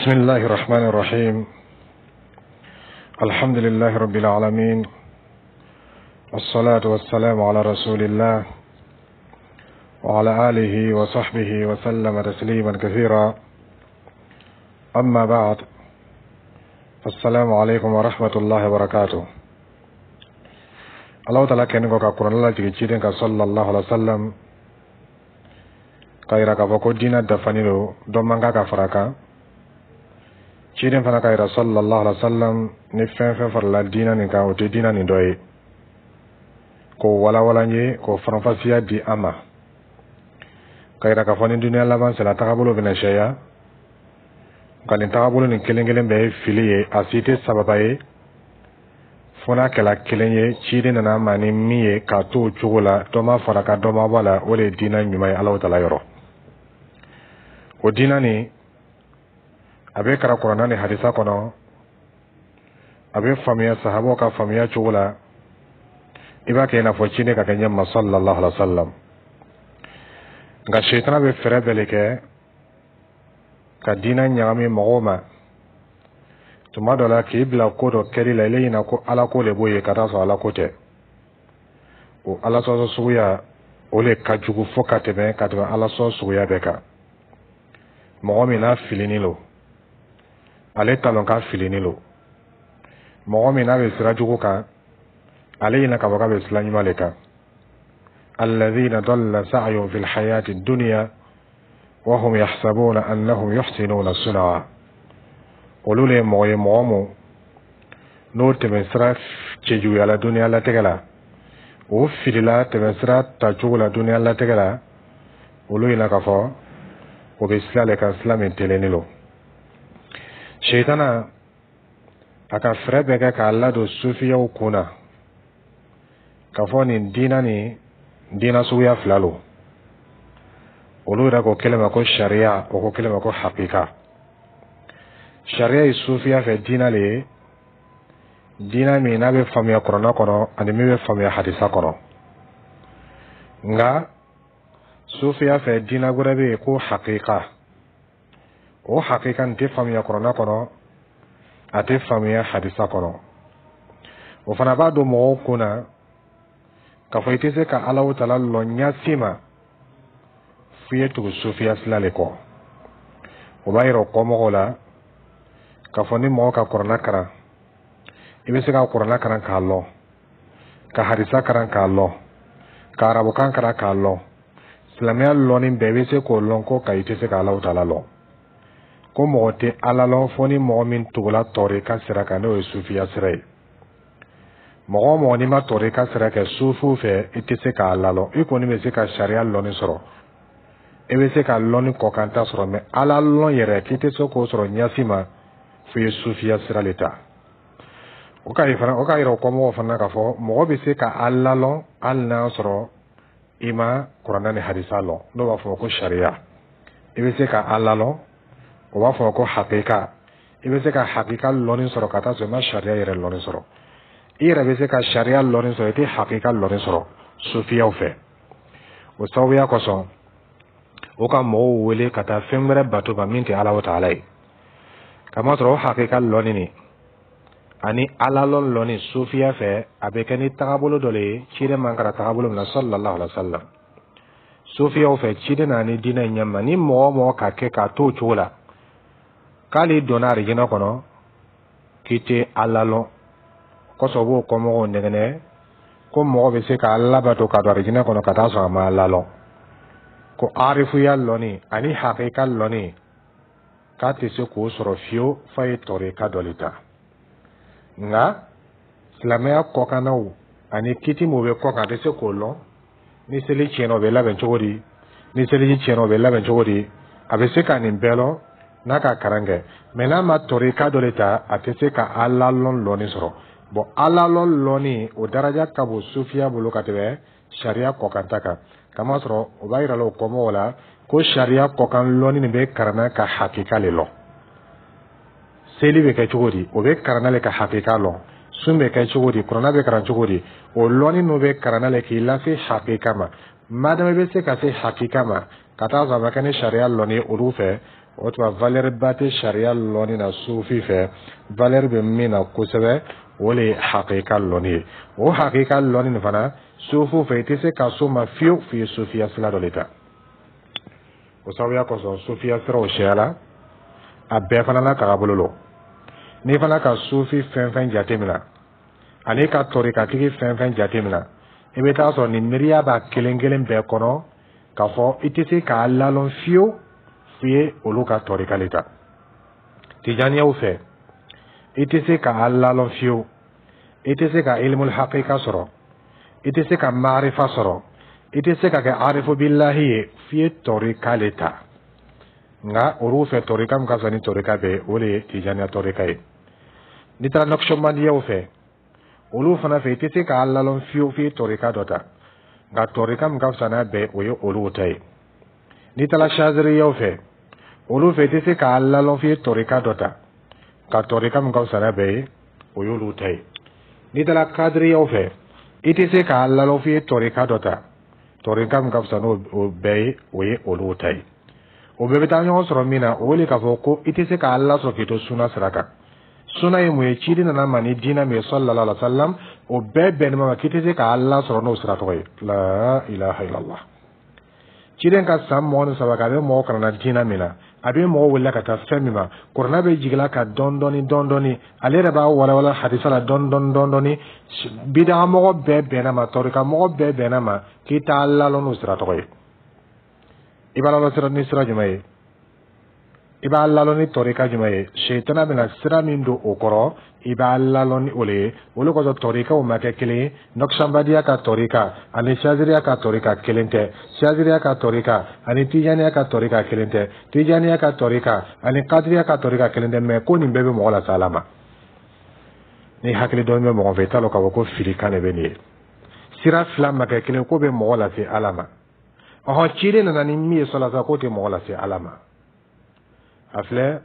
بسم الله الرحمن الرحيم. الحمد لله رب العالمين، والصلاة والسلام على رسول الله وعلى آله وصحبه وسلم تسليما كثيرا. أما بعد، السلام عليكم ورحمة الله وبركاته. الله تعالى kɛnin kɔ ka kuranɛ lajigin ciden kan صلى الله عليه وسلم, k'a yira k'a fɔ ko diinɛ dafanin don, dɔ man kan ka fara kan. Ciden fana k'a yira صلى الله عليه وسلم, ni fɛn fɛn farala diinɛ nin kan, o tɛ diinɛ nin dɔ ye, k'o walawala n ye, k'o faranfasiya di an ma, k'a yira k'a fɔ ni duniya laban sera, tagabolo bɛna sɛya. Nka nin tagabolo nin kelen kelen bɛɛ ye fili ye, a si tɛ sababa ye, fo n'a kɛla kelen ye ciden nana ma ni min ye, k'a to o cogo la, dɔ ma fara ka dɔ ma bɔ a la, o de ye diinɛ ɲuman ye Alahu taala yɔrɔ. O diinɛ nin, a bɛ karan kuranɛ ni hadisa kɔnɔ, a bɛ faamuya sahabaw ka faamuya cogo la, i b'a kɛ i n'a fɔ ciden ka kɛ ɲɛ ma صلى الله عليه وسلم. Nka sitana bɛ fɛɛrɛ bɛɛ de kɛ ka diinɛ ɲagami mɔgɔw ma. Tuma dɔ la, k'i bila ko dɔ kɛli la, i ɲɛna ko Ala ko de b'o ye, ka taa sɔrɔ Ala ko tɛ. O Ala sɔsɔ suguya, o de ka jugu fo ka tɛmɛ Ala sɔsɔ suguya bɛɛ kan. Mɔgɔ min n'a filinin lo, ale t'a lɔn k'a filinin lo. Mɔgɔ min n'a bɛ sira jugu kan, ale ɲɛna k'a fɔ k'a bɛ sira ɲuman de kan. الذين ضل سعيهم في الحياة الدنيا وهم يحسبون أنهم يحسنون صنعا. Olu le ye mɔgɔ ye, mɔgɔ mun n'o tɛmɛsira cɛjuguyala duniya latigɛ la, o filila tɛmɛsira tacogo la duniya latigɛ la. Olu ɲɛna k'a fɔ o bɛ sira le kan, sira min telenin lo. Sitana a ka fɛɛrɛ bɛɛ kɛ k'a ladon sufiyaw kun na k'a fɔ nin diinɛ nin, diinɛ suguya fila lo. Olu yɛrɛ ko kelen ma ko sariya, o ko kelen ma ko hakika. Sariya ye sufiya fɛ diinɛ le ye, diinɛ min n'a bɛ faamuya kuranɛ kɔnɔ ani min bɛ faamuya hadisa kɔnɔ. Nka sufiya fɛ, diinɛ wɛrɛ bɛ yen ko hakika. O hakika nin tɛ faamuya kuranɛ kɔnɔ, a tɛ faamuya hadisa kɔnɔ. O fana b'a don mɔgɔw kun na k'a fɔ i tɛ se ka Alahu taala lɔn ɲɛsi ma f'i ye tugu sufiya sira le kɔ. O b'a yira o kɔmɔgɔw la k'a fɔ ni mɔgɔ ka kuranɛ karan, i bɛ se ka kuranɛ karan k'a lɔn, ka hadisa karan k'a lɔn, ka arabukan karan k'a lɔn, silamɛya lɔnni bɛɛ i bɛ se k'o lɔn, ko ka i tɛ se ka Alahu taala lɔn, ko mɔgɔ tɛ Ala lɔn fo ni mɔgɔ min tugula tɔrika sira kan, n'o ye sufiya sira ye. Mɔgɔ o mɔgɔ n'i ma tɔrika sira kɛ sufiw fɛ, i tɛ se k'a lalɔn. I kɔni bɛ se ka sariya lɔnni sɔrɔ, i bɛ se ka lɔnni kɔkanta sɔrɔ, mɛ Ala lɔn yɛrɛ, k'i tɛ se k'o sɔrɔ ɲɛsi ma f'i ye sufiya sira de ta. O ka fana, o k'a yira o kɔmɔgɔw fana k'a fɔ mɔgɔ bɛ se ka Ala lɔn hali n'a sɔrɔ i ma kuranɛ ni hadisa lɔn, n'o b'a fɔ ko sariya. I bɛ se ka Ala lɔn, o b'a fɔ ko hakika. I bɛ se ka hakika lɔnni sɔrɔ ka taa sɔrɔ i ma sariya yɛrɛ lɔnni sɔrɔ. I yɛrɛ bɛ se ka sariya lɔnni sɔrɔ, i tɛ hakika lɔnni sɔrɔ sufiyaw fɛ. O sababuya kosɔn, o ka mɔgɔw wele ka taa fɛn wɛrɛ bato ma min tɛ Ala taala ye, kamasɔrɔ o hakika lɔnni nin ani Ala lɔn lɔnni sufiya fɛ, a bɛ kɛ ni tagabolo dɔ le ye ciden man kɛra tagabolo min na صلى الله عليه وسلم. Sufiyaw fɛ, ciden nana ni diinɛ in ɲɛma, ni mɔgɔ o mɔgɔ ka kɛ k'a to o cogo la, k'ale donna arijinɛ kɔnɔ, k'i tɛ Ala lɔn kosɔn. U b'o kɔmɔgɔw nɛgɛnɛ ko mɔgɔ bɛ se ka Ala bato ka don arijinɛ kɔnɔ ka taa sɔrɔ a ma Ala lɔn, ko arifuya lɔnni ani hakika lɔnni, k'a tɛ se k'o sɔrɔ fiyewu f'a ye tɔrika dɔ le ta. Nka silamɛya kɔkannaw ani kiti mun bɛ kɔkan, a tɛ se k'o lɔn. Ni seli tiɲɛna, o bɛ labɛn cogo di? Ni seliji tiɲɛna, o bɛ labɛn cogo di? A bɛ se ka nin bɛɛ lɔn n'a ka karan kɛ, mɛ n'a ma tɔrika dɔ de ta, a tɛ se ka Ala lɔn lɔnni sɔrɔ. Bɔn, Ala lɔn lɔnni, o daraja ka bon sufiya bolo ka tɛmɛ sariya kɔkanta kan, kamasɔrɔ o b'a yira la o kɔmɔgɔw la ko sariya kɔkan lɔnni nin bɛ karanna ka hakika le lɔn. Seli bɛ kɛ cogo di? O bɛ karanna le ka hakika lɔn. Sun bɛ kɛ cogo di? Kuranɛ bɛ karan cogo di? O lɔnni ninnu bɛ karanna le k'i lase hakika ma. Madama i bɛ se ka se hakika ma ka taa sɔrɔ a ma kɛ ni sariya lɔnni ye olu fɛ. O tuma, valeur ba tɛ sariya lɔnni na sufi fɛ. Valeur bɛ min na kosɛbɛ, o le ye hakika lɔnni ye. O hakika lɔnni nin fana, sufu fɛ, i tɛ se ka s'o ma fiyewu f'i ye sufiya sira dɔ de ta. O sababuya kosɔn, sufiya siraw siyala, a bɛɛ fana n'a tagabolo lo. N'i fana ka sufi fɛn fɛn jate minɛ ani ka tɔrikatigi fɛn fɛn jate minɛ, i bɛ taa sɔrɔ nin miiriya b'a kelen kelen bɛɛ kɔnɔ k'a fɔ i tɛ se k'a lalɔn fiyewu f'i ye olu ka tɔrika le ta. Tijaniyaw fɛ, i tɛ se k'a lalɔn fiyewu, i tɛ se ka ilimul hakika sɔrɔ, i tɛ se ka maarifa sɔrɔ, i tɛ se ka kɛ arifu bilahi ye f'i ye tɔrika le ta. Nka olu fɛ, tɔrika min ka fisa ni tɔrika bɛɛ ye, o de ye tijaniya tɔrika ye. N'i taara nɔkisɔnbandiyaw fɛ, olu fana fɛ, i tɛ se k'a lalɔn fiyewu f'i ye tɔrika dɔ ta. Nka tɔrika min ka fisa n'a bɛɛ, o ye olu ta ye. N'i taara saziriyaw fɛ, olu fɛ, i tɛ se k'a lalɔn f'i ye tɔrika dɔ ta. Nka tɔrika min ka fisa n'a bɛɛ ye, o y'olu ta ye. N'i taara kadiriyaw fɛ, i tɛ se k'a lalɔn f'i ye tɔrika dɔ ta. Tɔrika min ka fisa n'o bɛɛ ye, o ye olu ta ye. O bɛɛ bɛ taa ɲɔgɔn sɔrɔ min na, o le k'a fɔ ko i tɛ se k'a lasɔrɔ k'i to suna sira kan. Suna ye mun ye? Ciden nana ma ni diinɛ min ye, sallallahu alaihi wa sallam, o bɛɛ bɛnnen ma k'i tɛ se k'a lasɔrɔ n'o sira tɔgɔ ye. La ilaha illallah. Ciden ka san 23 kɛ, a bɛ mɔgɔ kalan diinɛ min na, a bɛ mɔgɔ wele ka taa fɛn min ma, kuranɛ bɛ jigin ka dɔɔni dɔɔni dɔɔni dɔɔni, ale yɛrɛ b'a walawala hadisa la dɔɔni dɔɔni dɔɔni dɔɔni. Bidagamɔgɔ bɛɛ bɛnna ma, tɔrikamɔgɔ bɛɛ bɛnna ma k'i t'a lalɔn n'o sira tɔgɔ ye. I b'a lalɔn sira ni sira jumɛn ye? I b'a lalɔn ni tɔrika jumɛn ye? Sɛtana bɛna sira min don o kɔrɔ, i b'a lalɔn ni o le ye. O de kosɔn tɔrikaw ma kɛ kelen ye. Nɔkisanbadiya ka tɔrika ani saziriya ka tɔrika kelen tɛ, saziriya ka tɔrika ani tijaniya ka tɔrika kelen tɛ, tijaniya ka tɔrika ani kadiriya ka tɔrika kelen tɛ. Mɛ ko nin bɛɛ bɛ mɔgɔ lase Ala ma. Ni hakili dɔɔni bɛ mɔgɔ fɛ, i t'a dɔn k'a fɔ ko fili kan de bɛ nin ye. Sira fila ma kɛ kelen ko bɛ mɔgɔ lase Ala ma. Ɔhɔn, ciden nana ni min ye sɔlasa, k'o tɛ mɔgɔ lase Ala ma. A filɛ,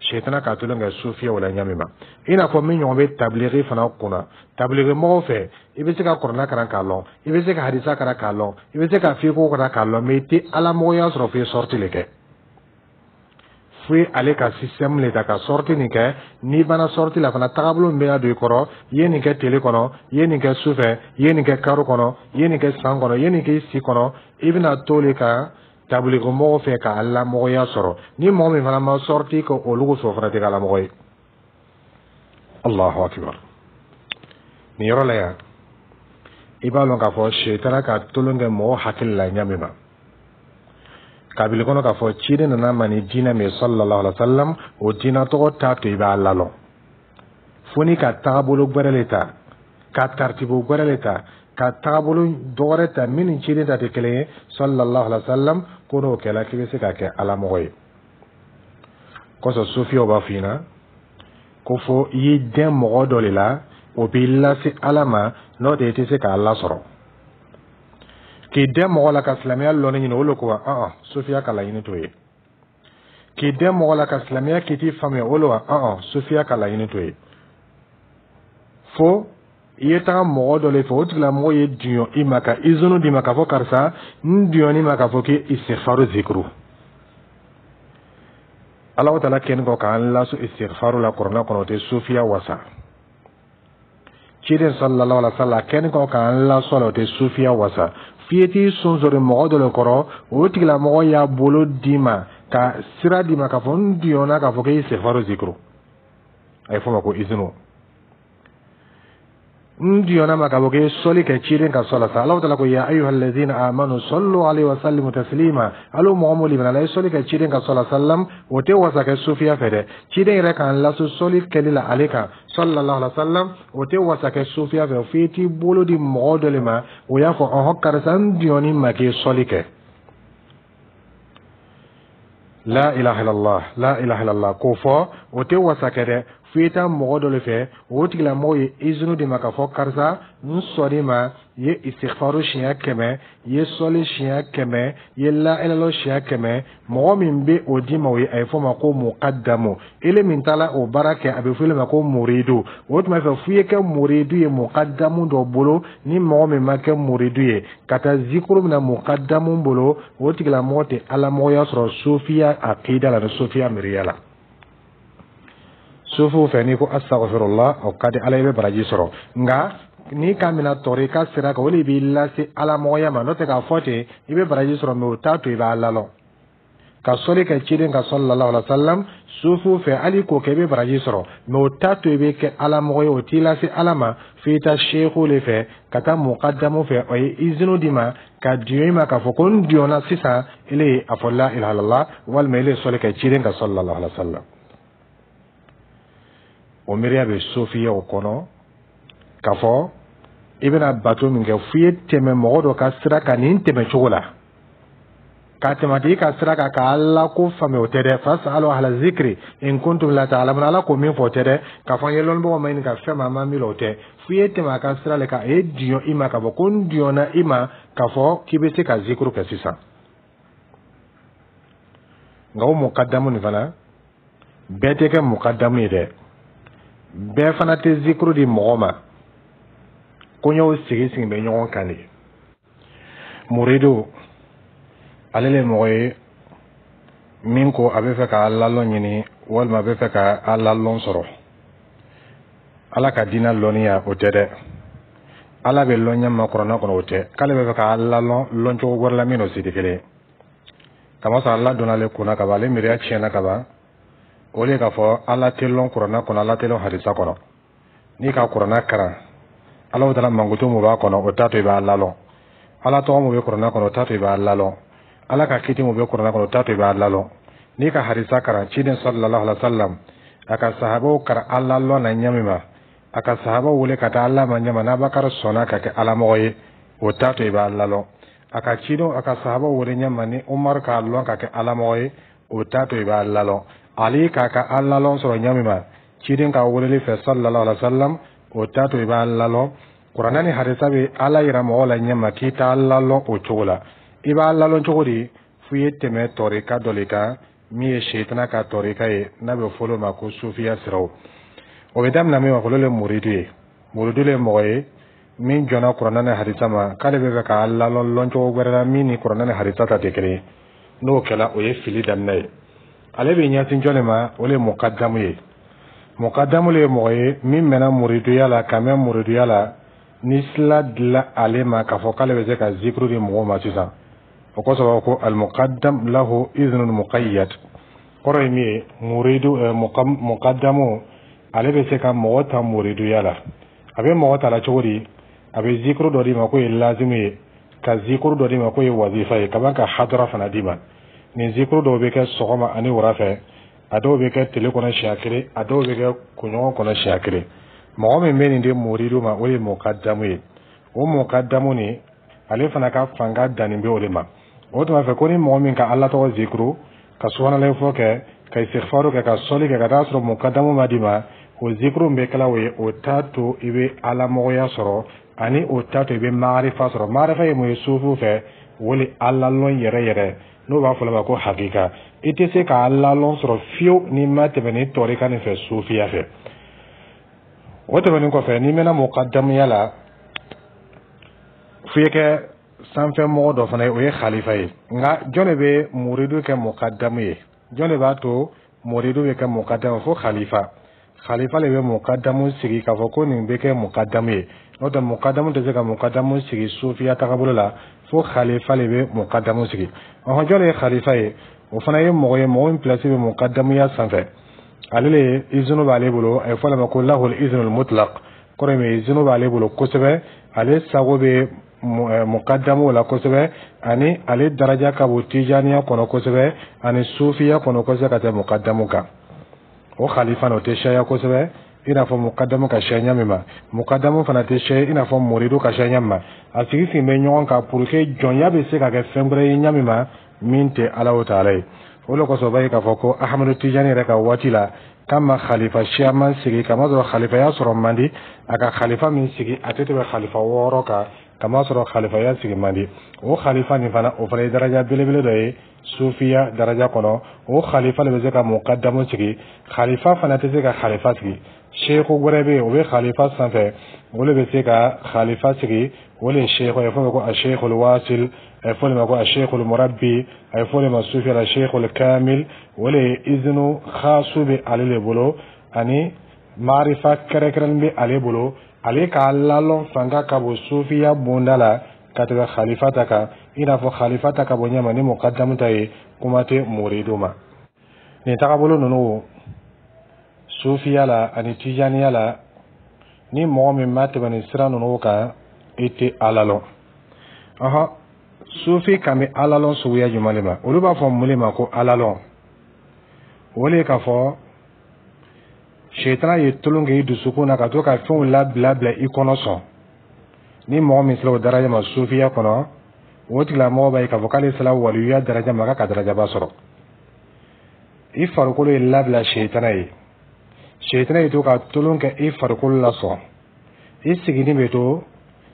sɛtana k'a tolon kɛ sufiyaw la ɲa min ma, i n'a fɔ min ɲɔgɔn bɛ tabiliki fana kunna. Tabiliki mɔgɔw fɛ, i bɛ se ka kuranɛ kalan k'a lɔn, i bɛ se ka hadisa kalan k'a lɔn, i bɛ se ka fiko kalan k'a lɔn, mɛ i tɛ alamɔgɔya sɔrɔ f'i ye sortie le kɛ. Fo ale ka système le ta ka sortie nin kɛ. N'i banna sortie la fana, tagabolo min bɛ don i kɔrɔ, i ye nin kɛ tile kɔnɔ, i ye nin kɛ su fɛ, i ye nin kɛ karo kɔnɔ, i ye nin kɛ san kɔnɔ, i ye nin kɛ i si kɔnɔ, i bɛna to le kan tabiliki mɔgɔw fɛ ka alamɔgɔya sɔrɔ. Ni mɔgɔ min fana ma sortie kɛ olu fɛ, o fana tɛ kɛ alamɔgɔ ye. Allahu akbar. Nin yɔrɔ la yan, i b'a lɔn k'a fɔ sɛtana ka tolon kɛ mɔgɔ hakili la ɲa min ma, kabili kɔnɔ k'a fɔ ciden nana ma ni diinɛ min ye, sallallahu alaihi wa sallam, o diinɛ tɔgɔ t'a to i b'a lalɔn fo n'i ka tagabolo gbɛrɛ le ta, ka taritibo gbɛrɛ le ta, ka tagabolo dɔwɛrɛ ta min ni ciden ta tɛ kelen ye, sallallahu alaihi wa sallam. Ko n'o kɛla, k'i bɛ se ka kɛ alamɔgɔ ye. Kɔsɔn sufiyaw b'a f'i ɲɛna ko fo i y'i dɛn mɔgɔ dɔ de la, o b'i lase Ala ma, n'o tɛ i tɛ se k'a lasɔrɔ. K'i dɛn mɔgɔ la ka silamɛya lɔnni ɲini, o le ko wa ɔn sufiya ka laɲini t'o ye. K'i dɛn mɔgɔ la ka silamɛya kiti faamuya, o le wa ɔn sufiya ka laɲini t'o ye. Fo i ye taga mɔgɔ dɔ le fɛ, o tigilamɔgɔ ye duɲɔ i ma, ka izini d'i ma k'a fɔ karisa, n duɲɔn'i ma k'a fɔ k'i istighfaru zikuru. Ala taala kɛni kɔ k'an laso istighfaru la kuranɛ kɔnɔ, o tɛ sufiya wasa. Ciden sallallahu alaihi wa sallam kɛni kɔ k'an laso la, o tɛ sufiya wasa. F'i ye t'i sonsori mɔgɔ dɔ le kɔrɔ, o tigilamɔgɔ y'a bolo d'i ma ka sira d'i ma k'a fɔ n duɲɔna k'a fɔ k'i istighfaru zikuru. A ye fɔ o ma ko izinu. N diyɔna ma k'a fɔ k'i sɔli kɛ ciden ka sɔla sa. Ala taala ko ya ayyuhal ladzina amanu sallu alaihi wa sallimu taslima. Alo mɔgɔ mun limana, ye sɔli kɛ ciden ka sɔla sallam, o tɛ wasa kɛ sufiya fɛ dɛ. Ciden yɛrɛ k'an laso sɔli kɛli la ale kan, sallallahu alaihi wa sallam, o tɛ wasa kɛ sufiya fɛ f'i t'i bolo di mɔgɔ dɔ le ma, o y'a fɔ ɔhɔn karisa, n diyɔni ma k'i sɔli kɛ. La ilaha illallah, la ilaha illallah, k'o fɔ, o tɛ wasa kɛ dɛ. F'i ye taa mɔgɔ dɔ le fɛ, o tigilamɔgɔ ye izini d'i ma k'a fɔ: karisa, n sɔnn'i ma, i ye istighfaru siɲɛ 100, i ye sɔli siɲɛ 100, i ye la ilaha siɲɛ 100. Mɔgɔ min bɛ o d'i ma, o ye a ye fɔ o ma ko mukadamu. Ele min taara o baara kɛ, a bɛ fɔ ele ma ko muridu. O tuma fɛ, f'i ye kɛ muridu ye mukadamu dɔ bolo. Ni mɔgɔ min ma kɛ muridu ye ka taa zikuru mina mukadamu bolo, o tigilamɔgɔ tɛ alamɔgɔya sɔrɔ sofiya akida la ni sofiya miiriya la. Sofiw fɛ, n'i ko astaghfirullah, o ka di Ala, i bɛ baraji sɔrɔ. Nka n'i ka mina tɔrika sira kan, o de b'i lase alamɔgɔya ma. N'o tɛ, k'a fɔ ten i bɛ baraji sɔrɔ, mɛ o t'a to i b'a lalɔn. Ka sɔli kɛ ciden kan sallallahu alaihi wa sallam, sofiw fɛ, hali k'o kɛ, i bɛ baraji sɔrɔ, mɛ o t'a to i bɛ kɛ alamɔgɔ ye, o t'i lase Ala ma. F'i taa sehu le fɛ, ka taa mukadamu fɛ, o ye izini d'i ma ka diɲɛ i ma k'a fɔ ko n diɲɛna sisan, ele ye a fɔ la ilaha illallah, walima ele ye sɔli kɛ ciden kan sallallahu alaihi wa sallam. O miiriya bɛ sofiyaw kɔnɔ k'a fɔ i bɛna bato min kɛ, f'i ye tɛmɛ mɔgɔ dɔ ka sira kan nin tɛmɛ cogo la, ka tɛmɛ tigi ka sira kan ka Ala ko faamuya, o tɛ dɛ. Fasalu ahla zikri in kuntum la ta'lamun, Ala ko min fɔ, o tɛ dɛ. K'a fɔ an ye lɔnnibagaw ma ɲini ka fɛn ma, an ma miiri, o tɛ. F'i ye tɛmɛ a ka sira le kan, a ye diɲɛ i ma k'a fɔ ko n diɲɛna i ma k'a fɔ k'i bɛ se ka zikuru kɛ sisan. Nka o mukadamu nin fana, bɛɛ tɛ kɛ mukadamu ye dɛ, bɛɛ fana tɛ zikuru di mɔgɔ ma. Koɲɛw sigi sigi bɛ ɲɔgɔn kan de. Muridu, ale le mɔgɔ ye min ko a bɛ fɛ ka Ala lɔn ɲini, walima a bɛ fɛ ka Ala lɔn sɔrɔ. Ala ka diinɛ lɔnniya, o tɛ dɛ. Ala bɛ lɔn ɲɛ ma kuranɛ kɔnɔ, o tɛ. K'ale bɛ fɛ ka Ala lɔn lɔncogo wɛrɛ la min n'o si tɛ kelen ye. Kamasɔrɔ Ala donna ale kunna ka ban, ale miiriya tiɲɛna ka ban. O de k'a fɔ Ala tɛ lɔn kuranɛ kɔnɔ, Ala tɛ lɔn hadisa kɔnɔ. N'i ka kuranɛ karan, Ala taala mankutu mun b'a kɔnɔ, o t'a to i b'a lalɔn. Ala tɔgɔ mun bɛ kuranɛ kɔnɔ, o t'a to i b'a lalɔn. Ala ka kiti mun bɛ kuranɛ kɔnɔ, o t'a to i b'a lalɔn. N'i ka hadisa karan, ciden sallallahu alaihi wa sallam, a ka sahabaw karan Ala lɔn na ɲɛ min ma, a ka sahabaw wele ka taa Ala ma ɲɛ ma, n'Abakari sɔnna ka kɛ alamɔgɔ ye, o t'a to i b'a lalɔn. A ka cidenw, a ka sahabaw wele ɲɛ ma, ni Umaru k'a lɔn ka kɛ alamɔgɔ ye, o t'a to i b'a lalɔn. Ali k'a ka alalɔn sɔrɔ ɲɛ min ma ciden ka weleli fɛ sallallahu alaihi wa sallam, o t'a to i b'a lalɔn. Kuranɛ ni hadisa bɛ Ala yira mɔgɔw la ɲɛ ma k'i t'a lalɔn o cogo la. I b'a lalɔn cogo di? F'i ye tɛmɛ tɔrika dɔ le kan min ye seyitana ka tɔrika ye, n'a bɛ fɔlɔ ma ko sufiya siraw. O bɛ daminɛ min ma, olu le muridu ye. Muridu le ye mɔgɔ ye min jɔnna kuranɛ ni hadisa ma, k'ale bɛ fɛ k'a lalɔn lɔncogo wɛrɛ la min ni kuranɛ ni hadisa ta tɛ kelen ye. N'o kɛla, o ye fili daminɛ ye. Ale bɛ ɲɛsin jɔn de ma? O le ye mukadamu ye. Mukadamu le ye mɔgɔ ye min mɛnna muriduya la, ka mɛn muriduya la, ni sila dila ale ma k'a fɔ k'ale bɛ se ka zikuru di mɔgɔw ma sisan. O kosɔn ko almuqaddam lahu iznun muqayyad, kɔrɔ ye min ye, muridu mukadamu, ale bɛ se ka mɔgɔ ta muriduya la. A bɛ mɔgɔ ta la cogo di? A bɛ zikuru dɔ d'i ma k'o ye lazimu ye, ka zikuru dɔ d'i ma k'o ye wazifa ye, ka ban ka hadara fana d'i ma. Nin zikuru dɔw bɛ kɛ sɔgɔma ani wura fɛ, a dɔw bɛ kɛ tile kɔnɔ siɲɛ kelen, a dɔw bɛ kɛ kunɲɔgɔn kɔnɔ siɲɛ kelen. Mɔgɔ min bɛ nin di muridu ma, o ye mukadamu ye. O mukadamu nin, ale fana ka fanga dannin bɛ o de ma. O tuma fɛ ko ni mɔgɔ min ka Ala tɔgɔ zikuru, ka subhanalahi fɔ kɛ, ka istighfaru kɛ, ka sɔli kɛ, ka taa sɔrɔ mukadamu ma d'i ma, o zikuru min bɛ kɛla o ye, o t'a to i bɛ alamɔgɔya sɔrɔ, ani o t'a to i bɛ maarifa sɔrɔ. Maarifa ye mun ye sufu fɛ? O le Ala lɔn yɛrɛ yɛrɛ, n'o b'a fɔ ma ko hakika. I tɛ se ka Ala lɔn sɔrɔ fiyewu n'i ma tɛmɛ ni tɔrika nin fɛ sufiya fɛ. O tɛmɛnen kɔfɛ, n'i mɛnna mukadamuya la, f'i ye kɛ sanfɛ mɔgɔ dɔ fana ye, o ye khalifa ye. Nka jɔn de bɛ muridu kɛ mukadamu ye? Jɔn de b'a to muridu bɛ kɛ mukadamu? Fo khalifa. Khalifa le bɛ mukadamu sigi k'a fɔ ko nin bɛ kɛ mukadamu ye. N'o tɛ, mukadamu tɛ se ka mukadamu sigi sufiya tagabolo la, fo khalifa le bɛ mukadamu sigi. Ɔhɔn, jɔn de ye khalifa ye? O fana ye mɔgɔ ye, mɔgɔ min place bɛ mukadamuya sanfɛ. Ale le izinu b'ale bolo, a ye fɔ ale ma ko lahul izinul mutlaq, kɔrɔ ye min ye, izinu b'ale bolo kosɛbɛ, ale sago bɛ mukadamu la kosɛbɛ, ani ale daraja ka bon tijaniya kɔnɔ kosɛbɛ ani sufiya kɔnɔ kosɛbɛ ka tɛmɛ mukadamu kan. O khalifa o tɛ sɛya kosɛbɛ i n'a fɔ mukadamu ka siya ɲɛ min ma. Mukadamu fana tɛ siya i n'a fɔ muridu ka siya ɲɛ min ma. A sigi sigi bɛ ɲɔgɔn kan pour que jɔnya bɛ se ka kɛ fɛn wɛrɛ ye ɲɛ min ma min tɛ Ala o taala ye. O le kosɔn, o b'a ye k'a fɔ ko Ahamadu Tijani yɛrɛ ka waati la, k'a ma khalifa siyaman sigi, kamasɔrɔ khalifaya sɔrɔ man di. A ka khalifa min sigi, a tɛ tɛmɛ khalifa 6 kan, kamasɔrɔ khalifaya sigi man di. O khalifa nin fana, o fana ye daraja belebele dɔ ye sufiya daraja kɔnɔ. O khalifa le bɛ se ka mukadamu sigi. Khalifa fana tɛ se ka khalifa sigi. Seku wɛrɛ bɛ yen, o bɛ khalifa sanfɛ, o le bɛ se ka khalifa sigi. O le ye seku ye, fɔ ma ko ashekul wasil, a ye fɔ o ma ko ashekul murabbi, a ye fɔ o ma sufiya la shekul kamil. O le ye izinu khasu bɛ ale le bolo, ani maarifa kɛrɛnkɛrɛnnen bɛ ale bolo. Ale k'a lalɔn fanga ka bon sufiya bonda la ka tɛmɛ khalifa ta kan, i n'a fɔ khalifa ta ka bon ɲɛma ni mukadamu ta ye. Kuma tɛ muridu ma. Nin tagabolo ninnu, sufiya la ani tijaniya la, ni mɔgɔ min ma tɛmɛ nin sira ninnu kan, i tɛ Ala lɔn. Ɔhɔn, sufi kan bɛ Ala lɔn suguya jumɛn de ma? Olu b'a fɔ mun de ma ko Ala lɔn? O de ye k'a fɔ setana ye tolon kɛ i dusukun na ka to ka fɛnw labila bila i kɔnɔ sɔn. Ni mɔgɔ min sera o daraja ma sufiya kɔnɔ, o tigilamɔgɔ b'a ye k'a fɔ k'ale sera waliyuya daraja ma, k'a ka darajaba sɔrɔ. I farikolo ye labila setana ye, setana ye to ka tolon kɛ i farikolo la sɔn. I siginin bɛ to,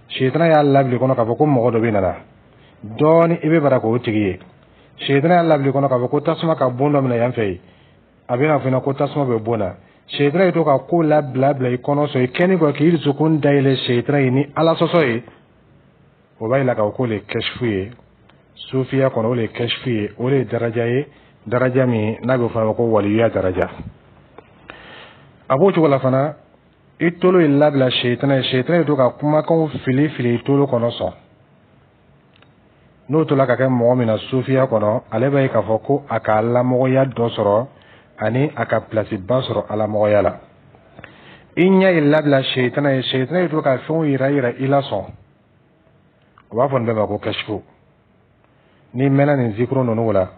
setana y'a labila kɔnɔ k'a fɔ ko mɔgɔ dɔ bɛ nana dɔɔni, i bɛ bara k'o tigi ye. Setana y'a labila kɔnɔ k'a fɔ ko tasuma ka bon dɔ minɛ yan fɛ yen, a bɛna fɔ ko tasuma bɛ bon na. Setana ye to ka ko labila bila i kɔnɔ sɔn. I kɛni kɔ k'i dusukun dayɛlɛ setana ye ni Ala sɔsɔ ye, o b'a yira k'a fɔ k'o le ye kɛsifu ye sufiya kɔnɔ. O le ye kɛsifu ye, o le ye daraja ye, daraja min n'a bɛ fɔ a ma ko waliyuya daraja. A b'o cogo la fana, i tolo ye labila setana ye, setana ye to ka kumakanw fili fili i tolo kɔnɔ sɔn. N'o tola ka kɛ mɔgɔ min na sufiya kɔnɔ, ale b'a ye k'a fɔ ko a ka lamɔgɔya dɔ sɔrɔ ani a ka pilasiba sɔrɔ alamɔgɔya la. I ɲɛ ye labila setana ye, setana ye to ka fɛnw yira yira i la sɔn. O b'a fɔ nin bɛɛ ma ko kɛsifu. N'i mɛnna nin zikuru ninnu la,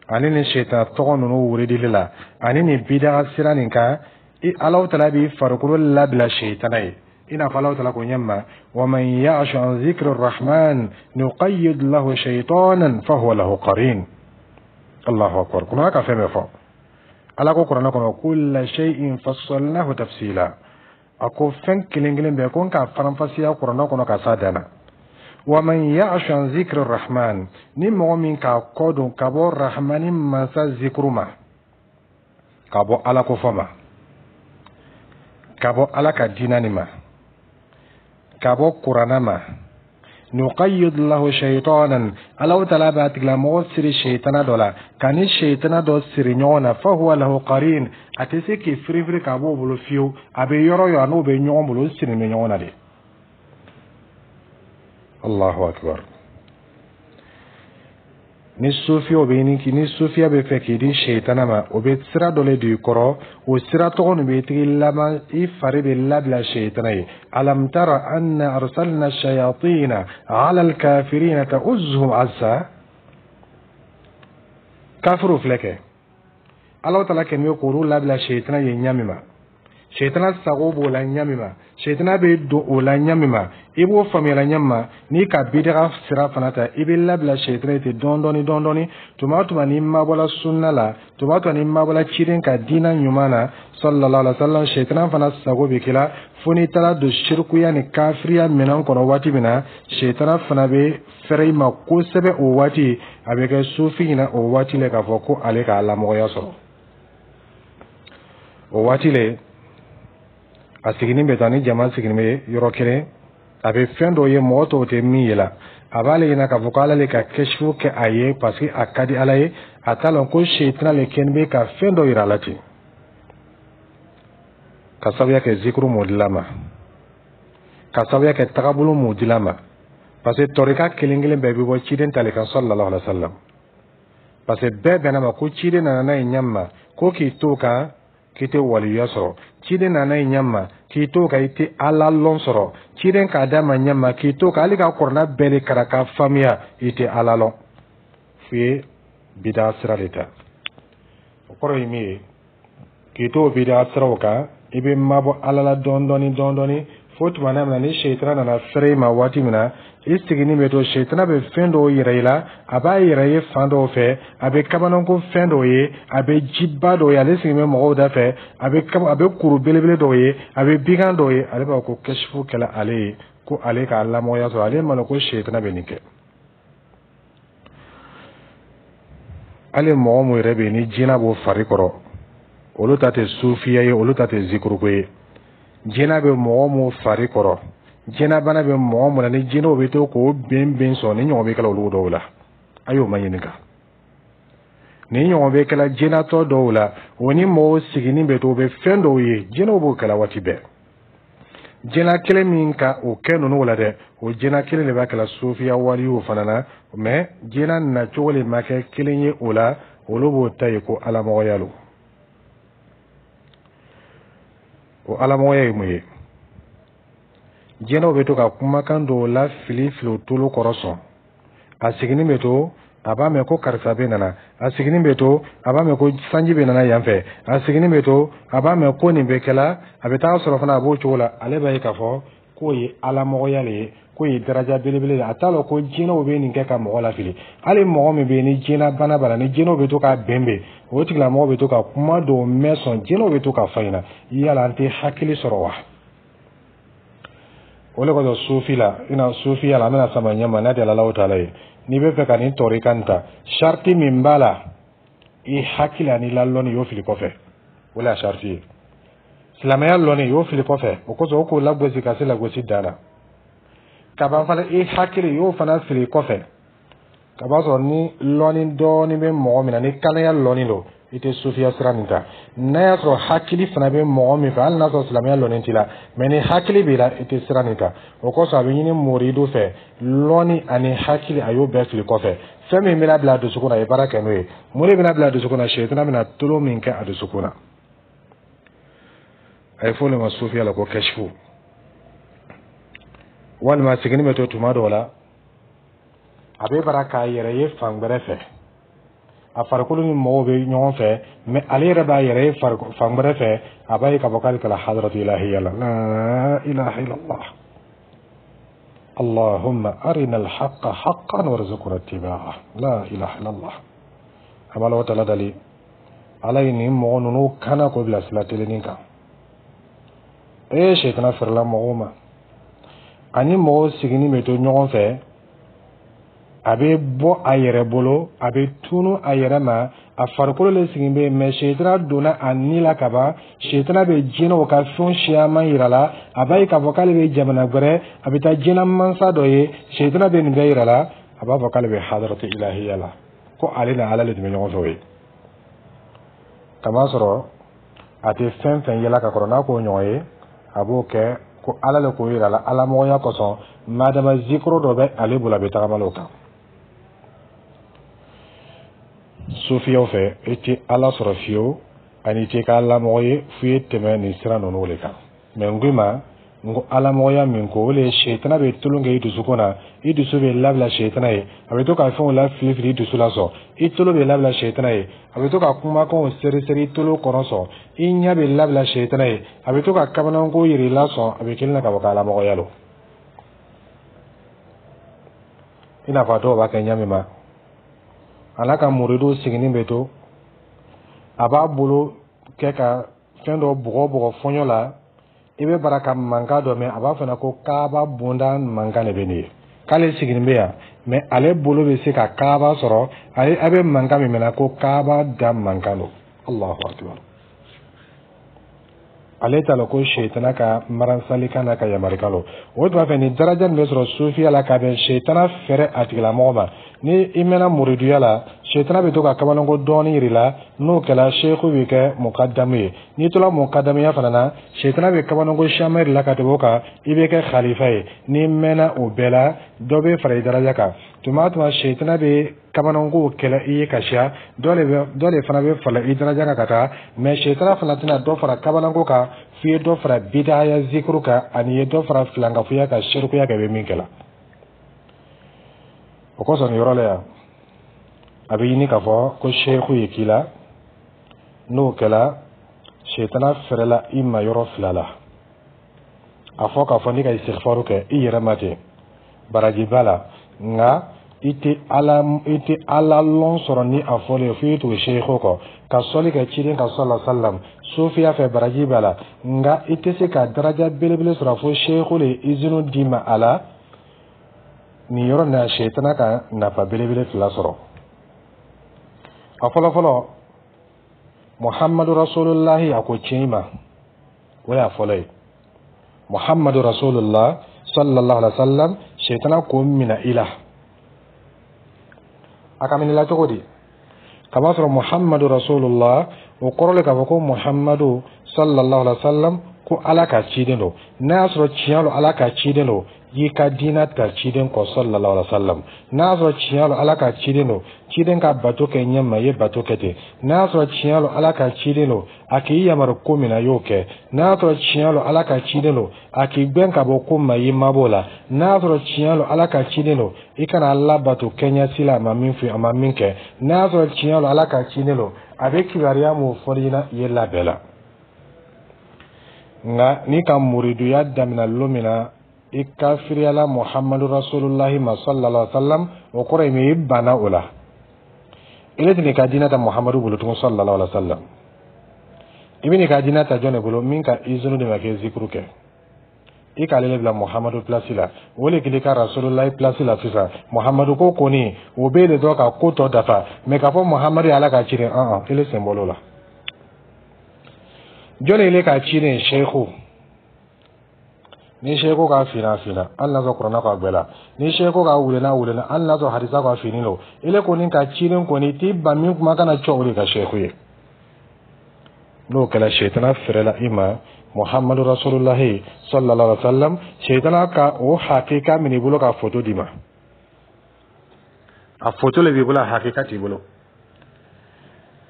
ani nin setana tɔgɔ ninnu wuridili la, ani nin bidaga sira nin kan, i Alahu Taala b'i farikolo labila setana ye, i n'a fɔ Alahu Taala ko ɲɛ ma: wa man ya'shu an zikri rahman nuqayyid lahu shaytanan fahuwa lahu qarin. Allahu akbar! Kuranɛ ka fɛn bɛɛ fɔ. Ala ko kuranɛ kɔnɔ: kulla shay'in fassalnahu tafsila. A ko fɛn kelen kelen bɛɛ, ko n k'a faranfasiya kuranɛ kɔnɔ ka s'a dan na. Wa man ya'shu an zikri rahman, ni mɔgɔ min k'a kɔ don ka bɔ Rahmani mansa zikuru ma, ka bɔ Ala ko fɔ ma, ka bɔ Ala ka diinɛ nin ma, ka bɔ kuranɛ ma, nuqayyid lahu shaytanan, Alahu Taala b'a tigilamɔgɔ siri seyitana dɔ la, ka ni seyitana dɔ siri ɲɔgɔn na, fahuwa lahu qarin, a tɛ se k'i firifiri k'a b'o bolo fiyewu. A bɛ yɔrɔ o yɔrɔ, a n'o bɛ ɲɔgɔn bolo, o siri bɛ ɲɔgɔn na de. Allahu akbar! Ni sufiyaw bɛ ɲini, ni sufiya bɛ fɛ k'i di seyitana ma, o bɛ sira dɔ le don i kɔrɔ. O sira tɔgɔ nin bɛ tigi laban, i fari bɛ labila seyitana ye. Alam tara anna arsalna shayatina ala alkafirina ta'uzzuhum azza. Kafiriw filɛ kɛ, Ala Taala kɛlen bɛ k'olu labila seyitana ye ɲa min ma, seyitana sago b'o la ɲa min ma, seyitana bɛ don o la ɲa min ma, i b'o faamuyala ɲa min ma. N'i ka bidaga sira fana ta, i bɛ labila seyitana ye ten dɔɔni dɔɔni dɔɔni dɔɔni. Tuma o tuma n'i mabɔla sunna la, tuma o tuma n'i mabɔla ciden ka diinɛ ɲuman na sallallahu alaihi wa sallam, seyitana fana sago bɛ k'i la, fo n'i taara don sirikuya ni kafiriya minɛn kɔnɔ. Waati min na seyitana fana bɛ fɛrɛ i ma kosɛbɛ, o waati a bɛ kɛ sufi ɲɛna o waati la k'a fɔ ko ale ka lamɔgɔya sɔrɔ. O waati le, a siginin bɛ taa ni jama siginin bɛ yɔrɔ kelen, a bɛ fɛn dɔ ye mɔgɔ tɔw tɛ min ye la. A b'ale ɲɛna k'a fɔ ko Ala le ka kɛsifu kɛ a ye, parce que a ka di Ala ye. A t'a lɔn ko seyitana le kɛlen bɛ ka fɛn dɔ yira a la ten, ka sababuya kɛ zikuru m'o dila ma, ka sababuya kɛ tagabolo m'o dila ma, parce que tɔrika kelen kelen bɛɛ bɛ bɔ ciden ta le kan sallallahu alaihi wa sallam, parce que bɛɛ bɛnna ma ko ciden nana n'a ye ɲɛ ma ko k'i to kan k'i tɛ waliyuya sɔrɔ. Ciden nana i ɲɛ ma k'i to kan, i tɛ Ala lɔn sɔrɔ. Ciden k'a d'a ma ɲɛ ma k'i to kan, hali ka kuranɛ bɛɛ de kalan k'a faamuya, i tɛ Ala lɔn, f'i ye bida sira de ta. O kɔrɔ ye min ye, k'i to bida siraw kan, i bɛ mabɔ Ala la dɔɔni dɔɔni dɔɔni dɔɔni, fo tuma min na ni seyitana nana fɛrɛ i ma waati min na. I siginin bɛ to, sɛtana bɛ fɛn dɔw yira i la. A b'a yɛrɛ ye fan dɔw fɛ, a bɛ kabanako fɛn dɔw ye, a bɛ jiba dɔw ye, ale sigilen bɛ mɔgɔw da fɛ, a bɛ kuru belebele dɔw ye, a bɛ bigan dɔw ye. Ale b'a fɔ ko kɛsifu kɛla ale ye, ko ale k'a lamɔgɔya sɔrɔ. Ale ma ko sɛtana bɛ nin kɛ. Hali mɔgɔ mun yɛrɛ bɛ yen ni jinɛ b'o fari kɔrɔ, olu ta tɛ sufiya ye, olu ta tɛ zikuruko ye. Jinɛ bɛ mɔgɔ mun fari kɔrɔ, jinɛbana bɛ mɔgɔ mun na, ni jinɛw bɛ to k'o ben ben sɔn, ni ɲɔgɔn bɛ kɛla olu dɔw la, a y'o ma ɲininka. Ni ɲɔgɔn bɛ kɛla jinɛtɔ dɔw la, o ni mɔgɔw siginin bɛ to, u bɛ fɛn dɔw ye, jinɛw b'o kɛla waati bɛɛ. Jinɛ kelen min ka o kɛ ninnu la dɛ, o jinɛ kelen de b'a kɛla sufiya waliw fana na, mɛ jinɛ nacogo de ma kɛ kelen ye o la. Olu b'o ta ye ko alamɔgɔya lo. O alamɔgɔya ye mun ye? Jinɛw bɛ to ka kumakan dɔw la fili fili o tolo kɔrɔ sɔn. A siginin bɛ to, a b'a mɛn ko karisa bɛ nana. A siginin bɛ to, a b'a mɛn ko sanji bɛ nana yan fɛ. A siginin bɛ to, a b'a mɛn ko nin bɛ kɛla. A bɛ taa sɔrɔ fana a b'o cogo la. Ale b'a ye k'a fɔ k'o ye alamɔgɔya le ye, k'o ye daraja belebele ye. A t'a lɔn ko jinɛw bɛ nin kɛ ka mɔgɔ lafili. Hali mɔgɔ min bɛ yen ni jinɛ bana b'a la, ni jinɛw bɛ to k'a bɛn bɛn, o tigilamɔgɔ bɛ to ka kuma dɔw mɛn sɔn, jinɛw bɛ to k'a fɔ a ɲɛna. Yala an tɛ hakili sɔrɔ wa? O de kosɔn sufi la, i na sufiya la, an bɛna sama ɲɛ ma n'a tɛ Alahu taala ye. N'i bɛ fɛ ka nin tɔrika nin ta, sariti min b'a la, i hakili ani la lɔnni, y'o fili kɔfɛ. O de y'a sariti ye. Silamɛya lɔnni, y'o fili kɔfɛ. O kosɔn o k'o lagosi ka se lagosi dan na. Ka ban fana, i hakili, y'o fana fili kɔfɛ. Ka b'a sɔrɔ ni lɔnni dɔɔni bɛ mɔgɔ min na, ni kanaya lɔnni don, i tɛ sufiya sira nin ta. N'a y'a sɔrɔ hakili fana bɛ mɔgɔ min fɛ, hali n'a sɔrɔ silamɛya lɔnni t'i la, mɛ ni hakili b'i la, i tɛ sira nin ta. O kosɔn a bɛ ɲini moridu fɛ, lɔnni ani hakili, a y'o bɛɛ fili kɔfɛ. Fɛn min bɛna bila a dusukun na, a ye baara kɛ n'o ye. Mun de bɛna bila a dusukun na? Sɛtana bɛna tolo min kɛ a dusukun na, a ye fɔ o de ma sufiya la ko kɛsifu. Walima sigini bɛ to tuma dɔw la, a bɛ bara k'a yɛrɛ ye fan wɛrɛ fɛ. A farikolo ni mɔgɔw bɛ ɲɔgɔn fɛ, mɛ ale yɛrɛ b'a yɛrɛ ye fan wɛrɛ fɛ. A b'a ye k'a fɔ k'ale kɛra hadratu ilahiya la. La ilaha illallah. Allahumma arina alhaqa haqqan warzuqna ittiba'ah. La ilaha illallah. A b'a la taala dali, Ala ye nin mɔgɔ ninnu kana k'o bila sira telennin kan. Ee, sɛtana fɛrɛla mɔgɔw ma. Ani mɔgɔw siginin bɛ to ɲɔgɔn fɛ, a bɛ bɔ a yɛrɛ bolo, a bɛ tunu a yɛrɛ ma. A farikolo le sigin bɛ yen, mɛ sɛtana donna a ni la ka ban. Sɛtana bɛ jinɛw ka fɛn siyaman yira la. A b'a ye k'a fɔ k'ale bɛ jamana wɛrɛ, a bɛ taa jinɛ mansa dɔ ye. Sɛtana bɛ nin bɛɛ yira la. A b'a fɔ k'ale bɛ hadaratu ilahiya la, ko ale ni Ala de tun bɛ ɲɔgɔn fɛ. O ye kamasɔrɔ a tɛ fɛn fɛn yɛlɛ ka kɔrɔ n'a k'o ɲɔgɔn ye, a b'o kɛ ko Ala le k'o yira la alamɔgɔya kosɔn. Madama zikoro dɔ bɛ ale bolo, a bɛ tagama o kan. Sufiyaw fɛ, i tɛ Ala sɔrɔ fiyewu ani i tɛ kɛ alamɔgɔ ye f'i ye tɛmɛ nin sira ninnu de kan. Mɛ n ko i ma n ko alamɔgɔya min ko, o de ye sɛtana bɛ tulon kɛ i dusukun na. I dusu bɛ labila sɛtana ye, a bɛ to ka fɛnw lafili fili i dusu la sɔn. I tolo bɛ labila sɛtana ye, a bɛ to ka kumakanw seri seri i tolo kɔnɔ sɔn. I ɲɛ bɛ labila sɛtana ye, a bɛ to ka kabananko yir'i la sɔn. A bɛ kelen na ka bɔ k'alamɔgɔya lo. I n'a fɔ a dɔw b'a kɛ ɲa min ma, ala ka muridu siginin bɛ to, a b'a bolo kɛ ka fɛn dɔ bugɔ bugɔ fɔɲɔ la. I bɛ bara ka mankan dɔ mɛn, a b'a fɔ ko kaaba bonda mankan de bɛ nin ye, k'ale sigilen bɛ yan, mɛ ale bolo bɛ se ka kaaba sɔrɔ. Ale a bɛ mankan min mɛn ko kaaba da mankan don. Allahu akbar. Ale t'a lɔn ko sɛtana ka maransalikan n'a ka yamarikan don. O tuma fɛ, nin daraja nin bɛ sɔrɔ sufiya la ka bɛn sɛtana fɛrɛ a tigilamɔgɔ ma. Ni i mɛnna muriduya la, sɛtana bɛ to ka kabalanko dɔɔnin yir'i la. N'o kɛra, seku bɛ kɛ mukadamu ye. N'i tola mukadamuya fana na, sɛtana bɛ kabalanko siyaman yir'i la ka tɛmɛ o kan, i bɛ kɛ khalifa ye. N'i mɛnna o bɛɛ la, dɔ bɛ fara i daraja kan. Tuma o tuma sɛtana bɛ kabanankow kɛlɛ i ye ka siya, dɔ de fana bɛ fara i daraja kan ka taa. Mɛ sɛtana fana tɛna dɔ fara kabananko kan f'i ye dɔ fara bidaya zikuru kan, ani ye dɔ fara filankafoya kan, serikuya kan, i bɛ min kɛ la. O kosɔn nin yɔrɔ la yan, a bɛ ɲini k'a fɔ ko seku ye k'i la. N'o kɛla, sɛtana fɛrɛla i ma yɔrɔ fila la. A fɔ k'a fɔ n'i ka istighfaru kɛ i yɛrɛ ma ten. Baraji b'a la, nka i tɛ Ala lɔn sɔrɔ ni a fɔlen ye fo i tugu seeko kɔ ka sɔli kɛ ciden kan sallallahu alaihi wasallam. Sofiya fɛ, baraji b'a la, nka i tɛ se ka daraja belebele sɔrɔ fo seeko le ye izini d'i ma a la. Nin yɔrɔ nin na, sɛtana ka nafa belebele fila sɔrɔ. A fɔlɔ fɔlɔ, Muhammadu Rasulullahi, a ko tiɲɛ ma, o y'a fɔlɔ ye. Muhammadu Rasulullah sallallahu alaihi wa sallam, sɛtana k'o minɛ i la. A ka minɛ la cogo di? K'a sɔrɔ Muhammadu Rasulullah, o kɔrɔ le k'a fɔ ko Muhammadu sallallahu alaihi wa sallam, ko Ala ka ciden don. N'a y'a sɔrɔ tiɲɛ don Ala ka ciden don, i ka diinɛ ta ciden kɔ sallallahu alaihi wa sallam. N'a y'a sɔrɔ tiɲɛ don Ala ka ciden don, ciden ka bato kɛ ɲɛ ma, i ye bato kɛ ten. N'a y'a sɔrɔ tiɲɛ don Ala ka ciden don, a k'i yamaru ko min na, i y'o kɛ. N'a y'a sɔrɔ tiɲɛ don Ala ka ciden don, a k'i gbɛn ka bɔ ko ma, i mabɔ o la. N'a y'a sɔrɔ tiɲɛ don Ala ka ciden don, i kana Ala bato kɛɲɛsi la a ma min fɔ, a ma min kɛ. N'a y'a sɔrɔ tiɲɛ don Ala ka ciden don, a bɛ kibaruya mun fɔ i ɲɛna, i ye labɛn la. Nka n'i ka muriduya daminɛ lon min na, i kafiriyala Muhammadu Rasulullahi ma sallallahu alaihi wa sallam, o kɔrɔ ye min? I banna o la. I tɛn'i ka diinɛ ta Muhammadu bolo tugun sallallahu alaihi wa sallam. I bɛ n'i ka diinɛ ta jɔn de bolo? Min ka izini de ma kɛ zikuru kɛ, i k'ale le bila Muhammadu place la, o le k'i ka Rasulullahi place la. Sisan Muhammadu ko kɔni, o bɛ de dɔn ka ko tɔ dafa, mɛ k'a fɔ Muhammadu ye Ala ka ciden, an ele sen bɔl'o la. Jɔn ele ka ciden? Seku. Ni seku ka fina fina, hali n'a sɔrɔ kuranna ka gbɛ la, ni seku ka wulenna wulenna, hali n'a sɔrɔ hadisa ka fini don, ele kɔni ka ciden kɔni t'i ban min kuma kana cɔ, o de ka seku ye. N'o kɛra, sɛtana fɛrɛ la i ma. Muhammadu Rasulullahi sallallahu alaihi wa sallam, sɛtana ka o hakika minɛ i bolo ka foto d'i ma. A foto le b'i bolo, a hakika t'i bolo.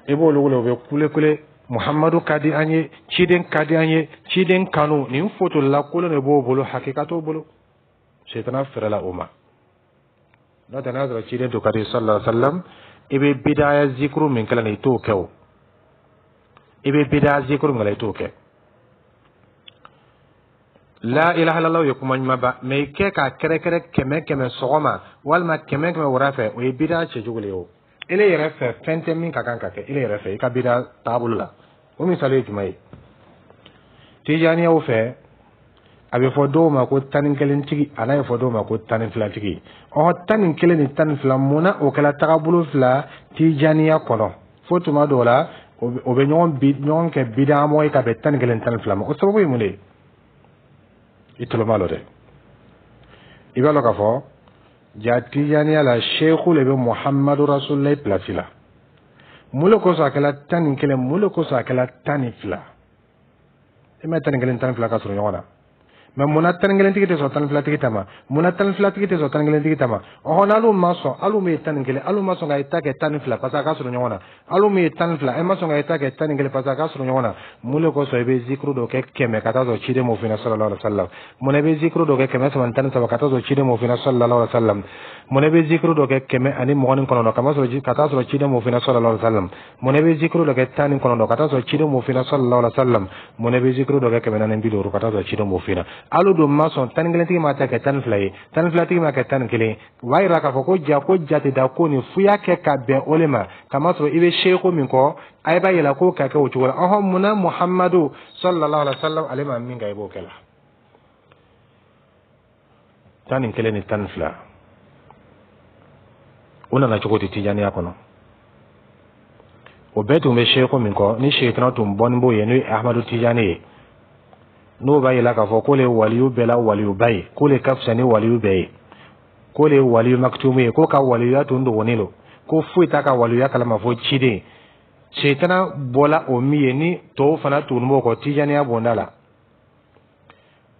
I b'olu wele, u bɛ kule kule: Muhammadu ka di an ye, ciden ka di an ye, ciden kanu. Nin foto lakolon de b'o bolo, hakika t'o bolo. Sɛtana fɛrɛ la o ma. N'o tɛ, n'a sɔrɔ ciden to ka di sallallahu alaihi wa sallam, i bɛ bidaya zikuru min kɛlɛ nin, i t'o kɛ. O i bɛ bidaya zikuru min kɛlɛ, i t'o kɛ. La ilaha illallah ye kuma ɲuman ba, mɛ i kɛ k'a kɛrɛkɛrɛ kɛmɛ kɛmɛ sɔgɔma walima kɛmɛ kɛmɛ wura fɛ, o ye bidaya cɛjugu le ye. O ele yɛrɛ fɛ, fɛn tɛ min ka kan ka kɛ ele yɛrɛ fɛ i ka bidaya taabolo la. O misali ye jumɛn ye? Tijaniyaw fɛ, a bɛ fɔ dɔw ma ko 11 tigi, a n'a ye fɔ dɔw ma ko 12 tigi. Ɔhɔ, 11 ni 12, munna o kɛra tagabolo fila tijaniya kɔnɔ? Fo tuma dɔw la, o bɛ ɲɔgɔn bi ɲɔgɔn kɛ bidamɔgɔ ye ka bɛn 11, 12 ma. O sababu ye mun de ye? I tulo b'a la dɛ. I b'a dɔn k'a fɔ ja tijaniya la, seeku le bɛ Muhammadu Rasulilayi place la. Mun le kosɔn a kɛla 11? Mun le kosɔn a kɛla 12? I ma 11, 12 ka surun ɲɔgɔn na, mɛ munna 11 tigi tɛ sɔn 12 tigi ta ma? Munna 12 tigi tɛ sɔn 11 tigi ta ma? Ɔhɔn, n'alu ma sɔn, alu min ye 11, alu ma sɔn ka i ta kɛ 12 parce que a ka surun ɲɔgɔn na. Alu min ye 12, e ma sɔn ka i ta kɛ 11 parce que a ka surun ɲɔgɔn na. Mun le kosɔn i bɛ zikuru dɔ kɛ 100 ka taa sɔrɔ ciden m'o f'i ɲɛna sallallahu alaihi wa sallam? Munna i bɛ zikuru dɔ kɛ 313 ka taa sɔrɔ ciden m'o f'i ɲɛna sallallahu alaihi wa sallam? Munna i bɛ zikuru dɔ kɛ 129 ka ma sɔrɔ ka taa sɔrɔ ciden m'o f'i ɲɛna sallallahu alaihi wa sallam? Munna i bɛ zikuru dɔ kɛ 19 ka taa sɔrɔ ciden m'o f'i ɲɛna sallallahu alaihi wa sallam? Munna i bɛ zikuru dɔ kɛ 450 ka taa sɔrɔ ciden m'o f'i ɲɛna? Alu dun ma sɔn, 11 tigi ma ta kɛ 12 ye, 12 tigi ma kɛ 11. O b'a yira k'a fɔ ko ja ko jateda ko nin f'u y'a kɛ ka bɛn o le ma, kamasɔrɔ i bɛ seeko min kɔ, a b'a yira k'o ka kɛ o cogo la. Ɔhɔn, munna Muhammadu sallallahu alaihi wa sallam, ale ma min kɛ, i b'o kɛ la? 11 ni 12, o nana cogo di tijaniya kɔnɔ? O bɛɛ tun bɛ seeko min kɔ, ni seetana tun bɔni b'o ye, n'o ye Ahmadu Tijani ye, n'o b'a yira k'a fɔ k'ole ye waliyu bɛɛ la waliyuba ye, k'ole ka fisa ni waliyu bɛɛ ye, k'ole ye waliyu makitumu ye, k'o ka waliyuya tun dogonnen don, ko foyi t'a ka waliyuya kalama fo ciden. Seetana bɔla o min ye, ni tɔw fana tun b'o kɔ tijaniya bonda la,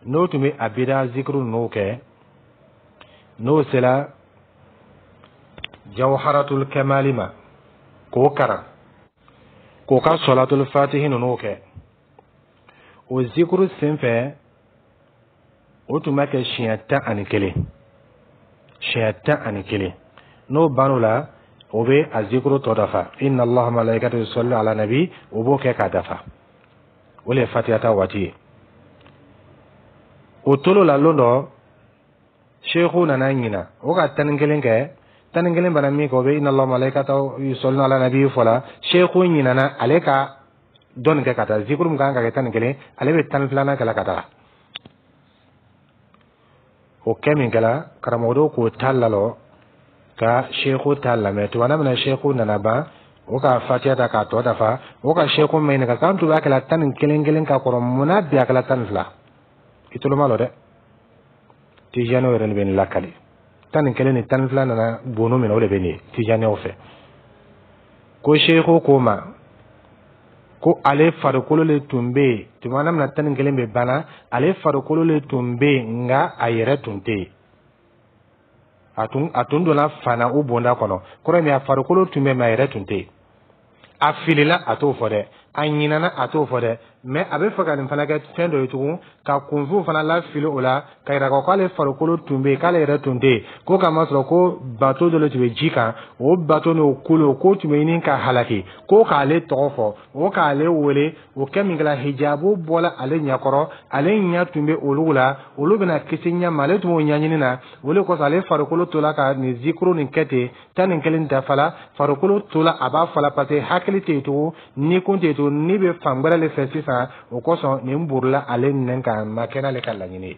n'o tun bɛ a bida zikiru ninnu kɛ, n'o sera jawharatul kamali ma k'o karan, k'o ka sɔlatul fatihi ninnu kɛ, o zikuru sen fɛ, o tun b'a kɛ siɲɛ 11, siɲɛ 11. N'o bann'o la, o bɛ a zikuru tɔ dafa: inna Allaha malaikatahu yusalli ala nabi. O b'o kɛ k'a dafa. O le ye fatiha ta waati ye. O tolo la, lon dɔ Seku nana ɲina, o ka 11 kɛ. 11 bana min kɛ, o bɛ inna Allaha malaikatahu yusalluna ala nabi fɔ la. Seku ɲinana, ale ka dɔɔni kɛ ka taa zikuru min kan ka kɛ 11, ale bɛ 12nan kɛ la ka taga. O kɛ min kɛla, karamɔgɔdenw k'o ta lalɔ ka seku ta lamɛn. Tuma min na seku nana ban, o ka fatiya ta k'a tɔ dafa. O ka seku min ɲininka k'an tun b'a kɛla 11 kelen ka kɔrɔ, mun na bi a kɛla 12? I tolo ma lɔ dɛ. Tijaniw yɛrɛ de bɛ nin lakali. 11 ni 12 nana bonu min na, o de bɛ nin ye tijaniw fɛ. Ko seku ko ma ko ale farikolo le tun bɛ yen tuma min na 11 bɛ banna, ale farikolo le tun bɛ yen, nka a yɛrɛ tun tɛ yen. A tun donna fana o bonda kɔnɔ. Kɔrɔ min, a farikolo tun bɛ, mɛ a yɛrɛ tun tɛ yen. A filila, a t'o fɔ dɛ. A ɲinana, a t'o fɔ dɛ. Mɛ a bɛ fɛ ka nin fana kɛ fɛn dɔ ye tugun, ka kunfinw fana lafili o la, ka yira k'ale farikolo tun bɛ yen, k'ale yɛrɛ tun tɛ yen. Ko k'a masɔrɔ ko bato dɔ de tun bɛ ji kan, o bato n'o kolo k'o tun bɛ ɲini ka halaki, ko k'ale tɔgɔ fɔ, o k'ale wele. O kɛ min kɛra, hijabu bɔla ale ɲɛkɔrɔ, ale ɲɛ tun bɛ olu la, olu bɛna kisi ɲɛ ma, ale tun b'o ɲɛɲini na. O de kosɔn ale farikolo tola ka nin zikuru nin kɛ ten. 11 dafala, farikolo tola a b'a fɔla, parce que hakili tɛ yen tugun, ni kun tɛ yen tugun, ni bɛ fan wɛrɛ de fɛ sisan. O kosɔn nin burula ale nɛn kan, ma kɛ n'ale ka laɲini ye.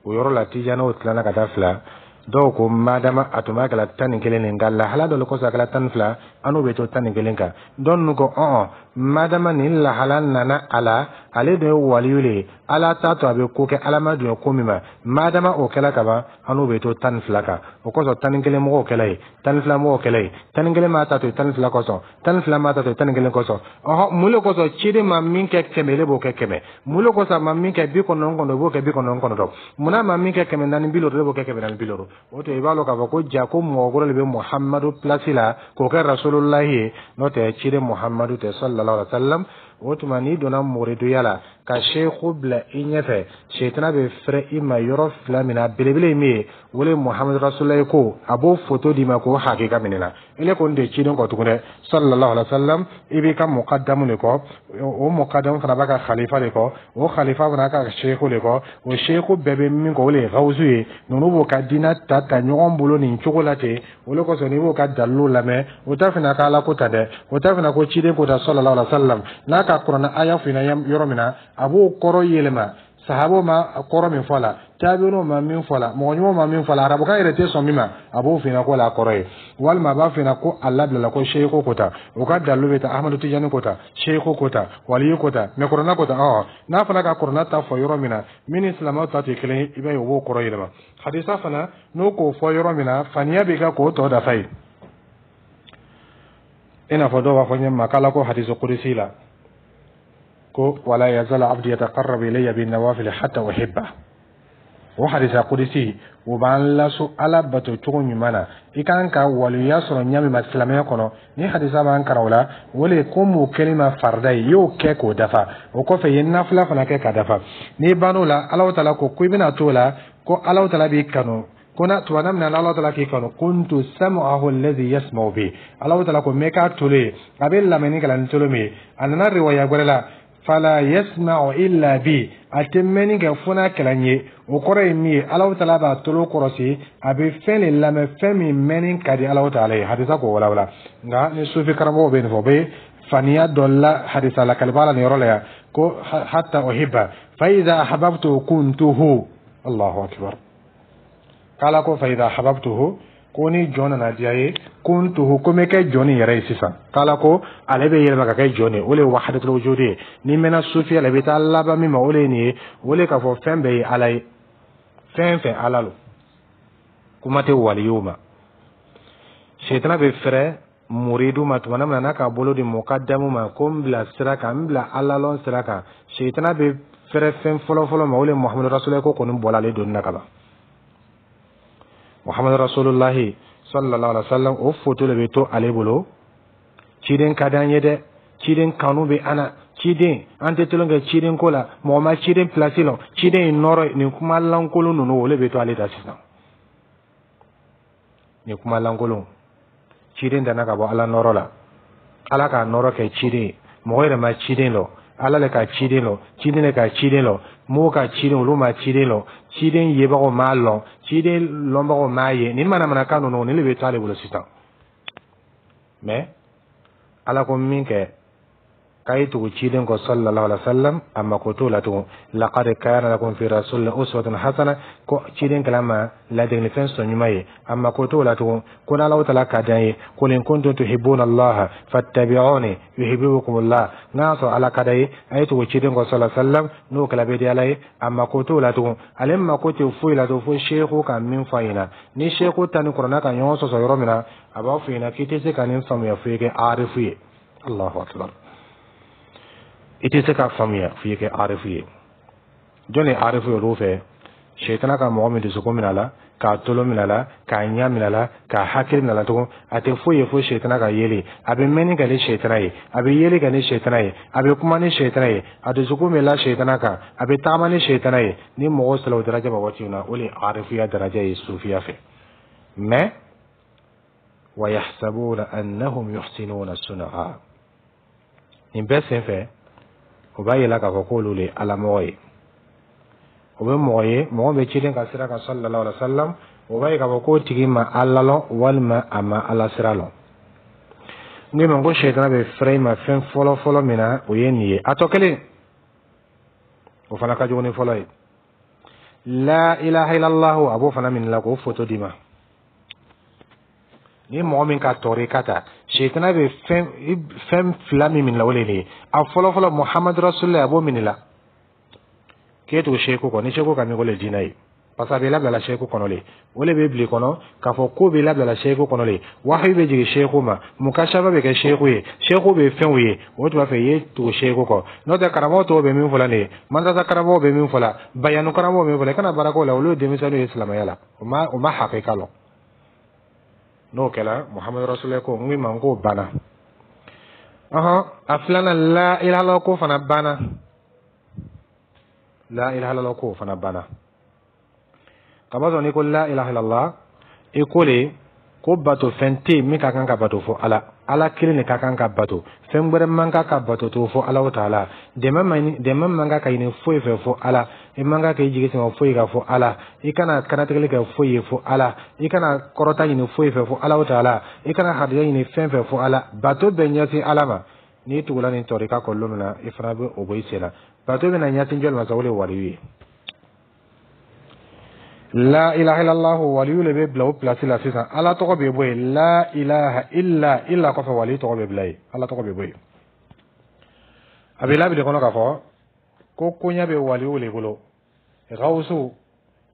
O yɔrɔ la, tijaniw tilala ka taa fila. Dɔw ko madama a tun b'a kɛla 11 nin, nka lahala dɔ le kosɔn a kɛla 12, an n'o bɛ to 11 kan. Dɔw ninnu ko ɔn, madama nin lahala nana a la, ale de ye waliyu le ye, Ala t'a to a bɛ ko kɛ Ala ma dun ko min ma. Madama o kɛla ka ban, an n'o bɛ to 12 kan. O kosɔn 11 mɔgɔw kɛla ye, 12 mɔgɔw kɛla ye. 11 m'a ta to 12 kosɔn, 12 m'a ta to 11 kosɔn. Ɔhɔn, mun de kosɔn ciden ma min kɛ 100, ele b'o kɛ 100? Mun de kosɔn a ma min kɛ 99, i b'o kɛ 99? Munna a ma min kɛ 450, e b'o kɛ 450? O tɛ i b'a dɔn k'a fɔ ko ja ko mɔgɔ wɛrɛ de bɛ Muhamadu place la k'o kɛ Rasulullahi ye, n'o tɛ ciden Muhamadu tɛ, sallallahu alaihi wa sallam. O tuma, n'i donna muriduya la ka seku bila i ɲɛfɛ, setana bɛ fɛrɛ i ma yɔrɔ fila min na. Belebele ye min ye, o le Muhamadu Rasulullahi ko a b'o foto d'i ma k'o hakika minɛ na. Ele kɔni de ciden kɔ tugun dɛ, sallallahu alaihi wa sallam. I b'i ka mukadamu de kɔ, o mukadamu fana b'a ka khalifa de kɔ, o khalifa fana ka seku de kɔ, o seku bɛɛ bɛ min kɔ, o le ye gawusu ye. Ninnu b'o ka diinɛ ta ta ɲɔgɔn bolo nin cogo la ten. O le kosɔn n'i b'o ka dalilu lamɛn, o t'a fana ka Ala ko ta dɛ, o t'a fana ko ciden ko ta, sallallahu alaihi wa sallam. N'a ka kuranɛ aya f'i ɲɛna yɔrɔ min na, a b'o kɔrɔ yɛlɛma. Sahabaw ma kɔrɔ min fɔ a la, tabi'inw ma min fɔ a la, mɔgɔ ɲumanw ma min fɔ a la, arabukan yɛrɛ tɛ sɔn min ma, a b'o f'i ɲɛna ko la kɔrɔ ye. Walima a b'a f'i ɲɛna ko a labilala ko seku ko ta. O ka dalilu bɛ ta Ahmadu Tijani ko ta, seku ko ta, waliyu ko ta, mɛ kuranɛ ko ta. Ɔ, n'a fana ka kuranɛ ta fɔ yɔrɔ min na, min ni silamɛw ta tɛ kelen ye, i b'a ye o b'o kɔrɔ yɛlɛma. Hadisa fana, n'o k'o fɔ yɔrɔ min na, faniya b'i ka k'o tɔ dafa ye. I n'a fɔ dɔw b'a fɔ ɲɛ ma k'Ala ko hadisi kudusi la ko wala yazal abdi yataqarrabu ilayya bin nawafil hatta uhibba. O hadisa kudusi, o b'an laso Ala bato cogo ɲuman na. I kan ka waliya sɔrɔ ɲa min ma silamɛya kɔnɔ, ni hadisa b'an kalan o la, o le ko m'o kɛli ma farida ye, i y'o kɛ k'o dafa. O kɔfɛ, i ye nafila fana kɛ k'a dafa. N'i bann'o la, Alahu taala ko i bɛna t'o la ko Alahu taala b'i kanu. Ko na tuma min na Alahu taala k'i kanu, kuntu sam'ahu alladhi yasma'u bi. Alahu taala ko n bɛ k'a tolo ye, a bɛ lamɛnni kɛ la ni tolo min ye. A nana riwaya wɛrɛ la, fala yasma'u illa bi, a tɛ mɛnni kɛ fo n'a kɛla n ye. O kɔrɔ ye min ye, Alahu taala b'a tolo kɔrɔsi, a bɛ fɛn de lamɛn, fɛn min mɛnni ka di Alahu taala ye. Hadisa k'o walawala. Nka ni sufi karamɔgɔw bɛ nin fɔ, o bɛ faniya dɔ la hadisa lakaliba la nin yɔrɔ la yan ko hatta uhibba fa idha ahbabtu kuntuhu. Allahu akbar. K'Ala ko fa idha ahbabtuhu, ko ni jɔn nana diya ye, kuntuhu, ko n bɛ kɛ jɔn nin yɛrɛ ye sisan. K'Ala ko ale bɛ yɛlɛma ka kɛ jɔn ye, o de ye wahadatul wujudi ye. N'i mɛnna sufiya la, i bɛ taa laban min ma, o de ye nin ye. O de k'a fɔ fɛn bɛɛ ye Ala ye, fɛn fɛn Ala lo, kuma tɛ waliyow ma. Setana bɛ fɛrɛ muridu ma tuma min na n'a k'a bolo di mukadamu ma ko n bila sira kan, n bila Ala lɔn sira kan. Setana bɛ fɛrɛ fɛn fɔlɔ-fɔlɔ ma, o de ye Muhamadu Rasululahi ko kɔni bɔla ale donni na ka ban. Muhamadu Rasulullahi sallallahu alaihi wa sallam, o foto de bɛ to ale bolo. Ciden ka d'an ye dɛ, ciden kanu bɛ an na, ciden an tɛ tulon kɛ ciden ko la, mɔgɔ ma ciden place lɔn, ciden ye nɔrɔ ye. Nin kuma lankolon ninnu, o de bɛ to ale da sisan. Nin kuma lankolon, ciden danna ka bɔ Ala nɔrɔ la, Ala k'a nɔrɔ kɛ ciden ye, mɔgɔ yɛrɛ ma ciden lɔ. Ala le ka ciden lɔn, ciden le ka ciden lɔn, mɔgɔw ka ciden, olu ma ciden lɔn, ciden yebagaw m'a lɔn, ciden lɔnbagaw m'a ye. Nin manamanakan ninnu, nin le bɛ to ale bolo sisan. Mais Ala ko min kɛ k'a ye tugu ciden kɔ sallallahu alaihi wa sallam, a mako t'o la tugun. Laqad kana lakum fi rasulillahi uswatun hasana, ko ciden kɛla ma ladegelifɛn sɔn ɲuman ye, a mako t'o la tugun. Ko n'Ala taala ka d'an ye, qul in kuntum tuhibbuna Allaha fattabi'uni yuhibbukumullah, n'a y'a sɔrɔ Ala ka d'a ye, a ye tugu ciden kɔ sallallahu alaihi wa sallam, n'o kɛla bɛ di Ala ye. A mako t'o la tugun. Ale mako tɛ foyi la tugun fo seku ka min fɔ a ɲɛna. Ni seku ta ni kuranɛ ka ɲɔgɔn sɔsɔ yɔrɔ min na, a b'a fɔ ɲɛna k'i tɛ se ka nin faamuya fo i kɛ arifu ye. Allahu akbar! I tɛ se k'a faamuya f'i kɛ arifu ye. Jɔn ye arifu ye olu fɛ? Sɛtana ka mɔgɔ min dusukun minɛ a la, k'a tolo minɛ a la, k'a ɲɛ minɛ a la, k'a hakili minɛ a la tugun, a tɛ foyi ye fo sɛtana ka yeli. A bɛ mɛnni kɛ ni sɛtana ye, a bɛ yeli kɛ ni sɛtana ye, a bɛ kuma ni sɛtana ye, a dusukun bɛ la sɛtana kan, a bɛ tagama ni sɛtana ye. Ni mɔgɔ sera o daraja ma waati min na, o de ye arifuya daraja ye sufiya fɛ. Mais wa yahsabuna annahum yuhsinuna sun'a, nin bɛɛ senfɛ, o b'a yira k'a fɔ k'olu de ye alamɔgɔ ye. O bɛ mɔgɔ ye, mɔgɔ bɛ ciden ka sira kan sallallahu alaihi wa sallam, o b'a ye k'a fɔ k'o tigi ma Ala lɔn walima a ma Ala sira lɔn. N ko ma ko sɛtana bɛ fɛrɛ i ma fɛn fɔlɔ fɔlɔ min na, o ye nin ye. A tɔ kelen, o fana ka jugu ni fɔlɔ ye. La ilaha illallah, a b'o fana minɛ la k'o foto d'i ma. Ni mɔgɔ min ka tɔɔrɔ ka ta, sɛtana bɛ fɛn fila min minɛ la, o de ye nin ye. A fɔlɔ fɔlɔ, Muhamadu rasulillah, a b'o minɛ la k'e tugu seku kɔ. Ni seku ka min ko le diinɛ ye, parce que a bɛ labilala seku kɔnɔ le, o le bɛ bila kɔnɔ k'a fɔ ko bɛ labilala seku kɔnɔ le, wahayu bɛ jigin seku ma, mukashafa bɛ kɛ seku ye, seku bɛ fɛnw ye. O tuma fɛ, i ye tugu seku kɔ. N'o tɛ, karamɔgɔ tɔw bɛ min fɔ la nin ye, madrasa karamɔgɔw bɛ min fɔ la, bayanu karamɔgɔw bɛ min fɔ la, i kana baara k'o la. Olu ye denmisɛnninw ye silamɛya la, o ma hakika lɔn. N'o kɛra, Muhamadu rasulillah ko n ko i ma n k'o banna. Ɔhɔn, a filanan, la ilaha illallah ko fana banna, la ilaha illallah ko fana banna. Kamasɔrɔ n'i ko la ilaha illallah, i ko le ko bato fɛn tɛ yen min ka kan ka bato fo Ala, Ala kelen de ka kan ka bato, fɛn wɛrɛ man kan ka bato to fo Ala taala. Dɛmɛ man kan ka ɲini foyi fɛ fo Ala. I man kan k'i jigi sɛmɛ foyi kan fo Ala. I kana kanatigɛli kɛ foyi ye fo Ala. I kana kɔrɔta ɲini foyi fɛ fo Ala taala. I kana harijɛ ɲini fɛn fɛ fo Ala. Bato bɛ ɲɛsin Ala ma. N'i tugula nin tɔrika kɔ lon min na, i fana bɛ o bɔ i sen na. Bato bɛna ɲɛsin jɔli ma sa? O de ye waliyu ye. La ilaha illallah, waliyu le bɛ bila o place la sisan. Ala tɔgɔ bɛ bɔ yen. La ilaha illa, illa kɔfɛ, waliyu tɔgɔ bɛ bila yen, Ala tɔgɔ bɛ bɔ yen. A bɛ labili kɔnɔ k'a fɔ ko koɲɛ bɛ waliyu le bolo, gawusu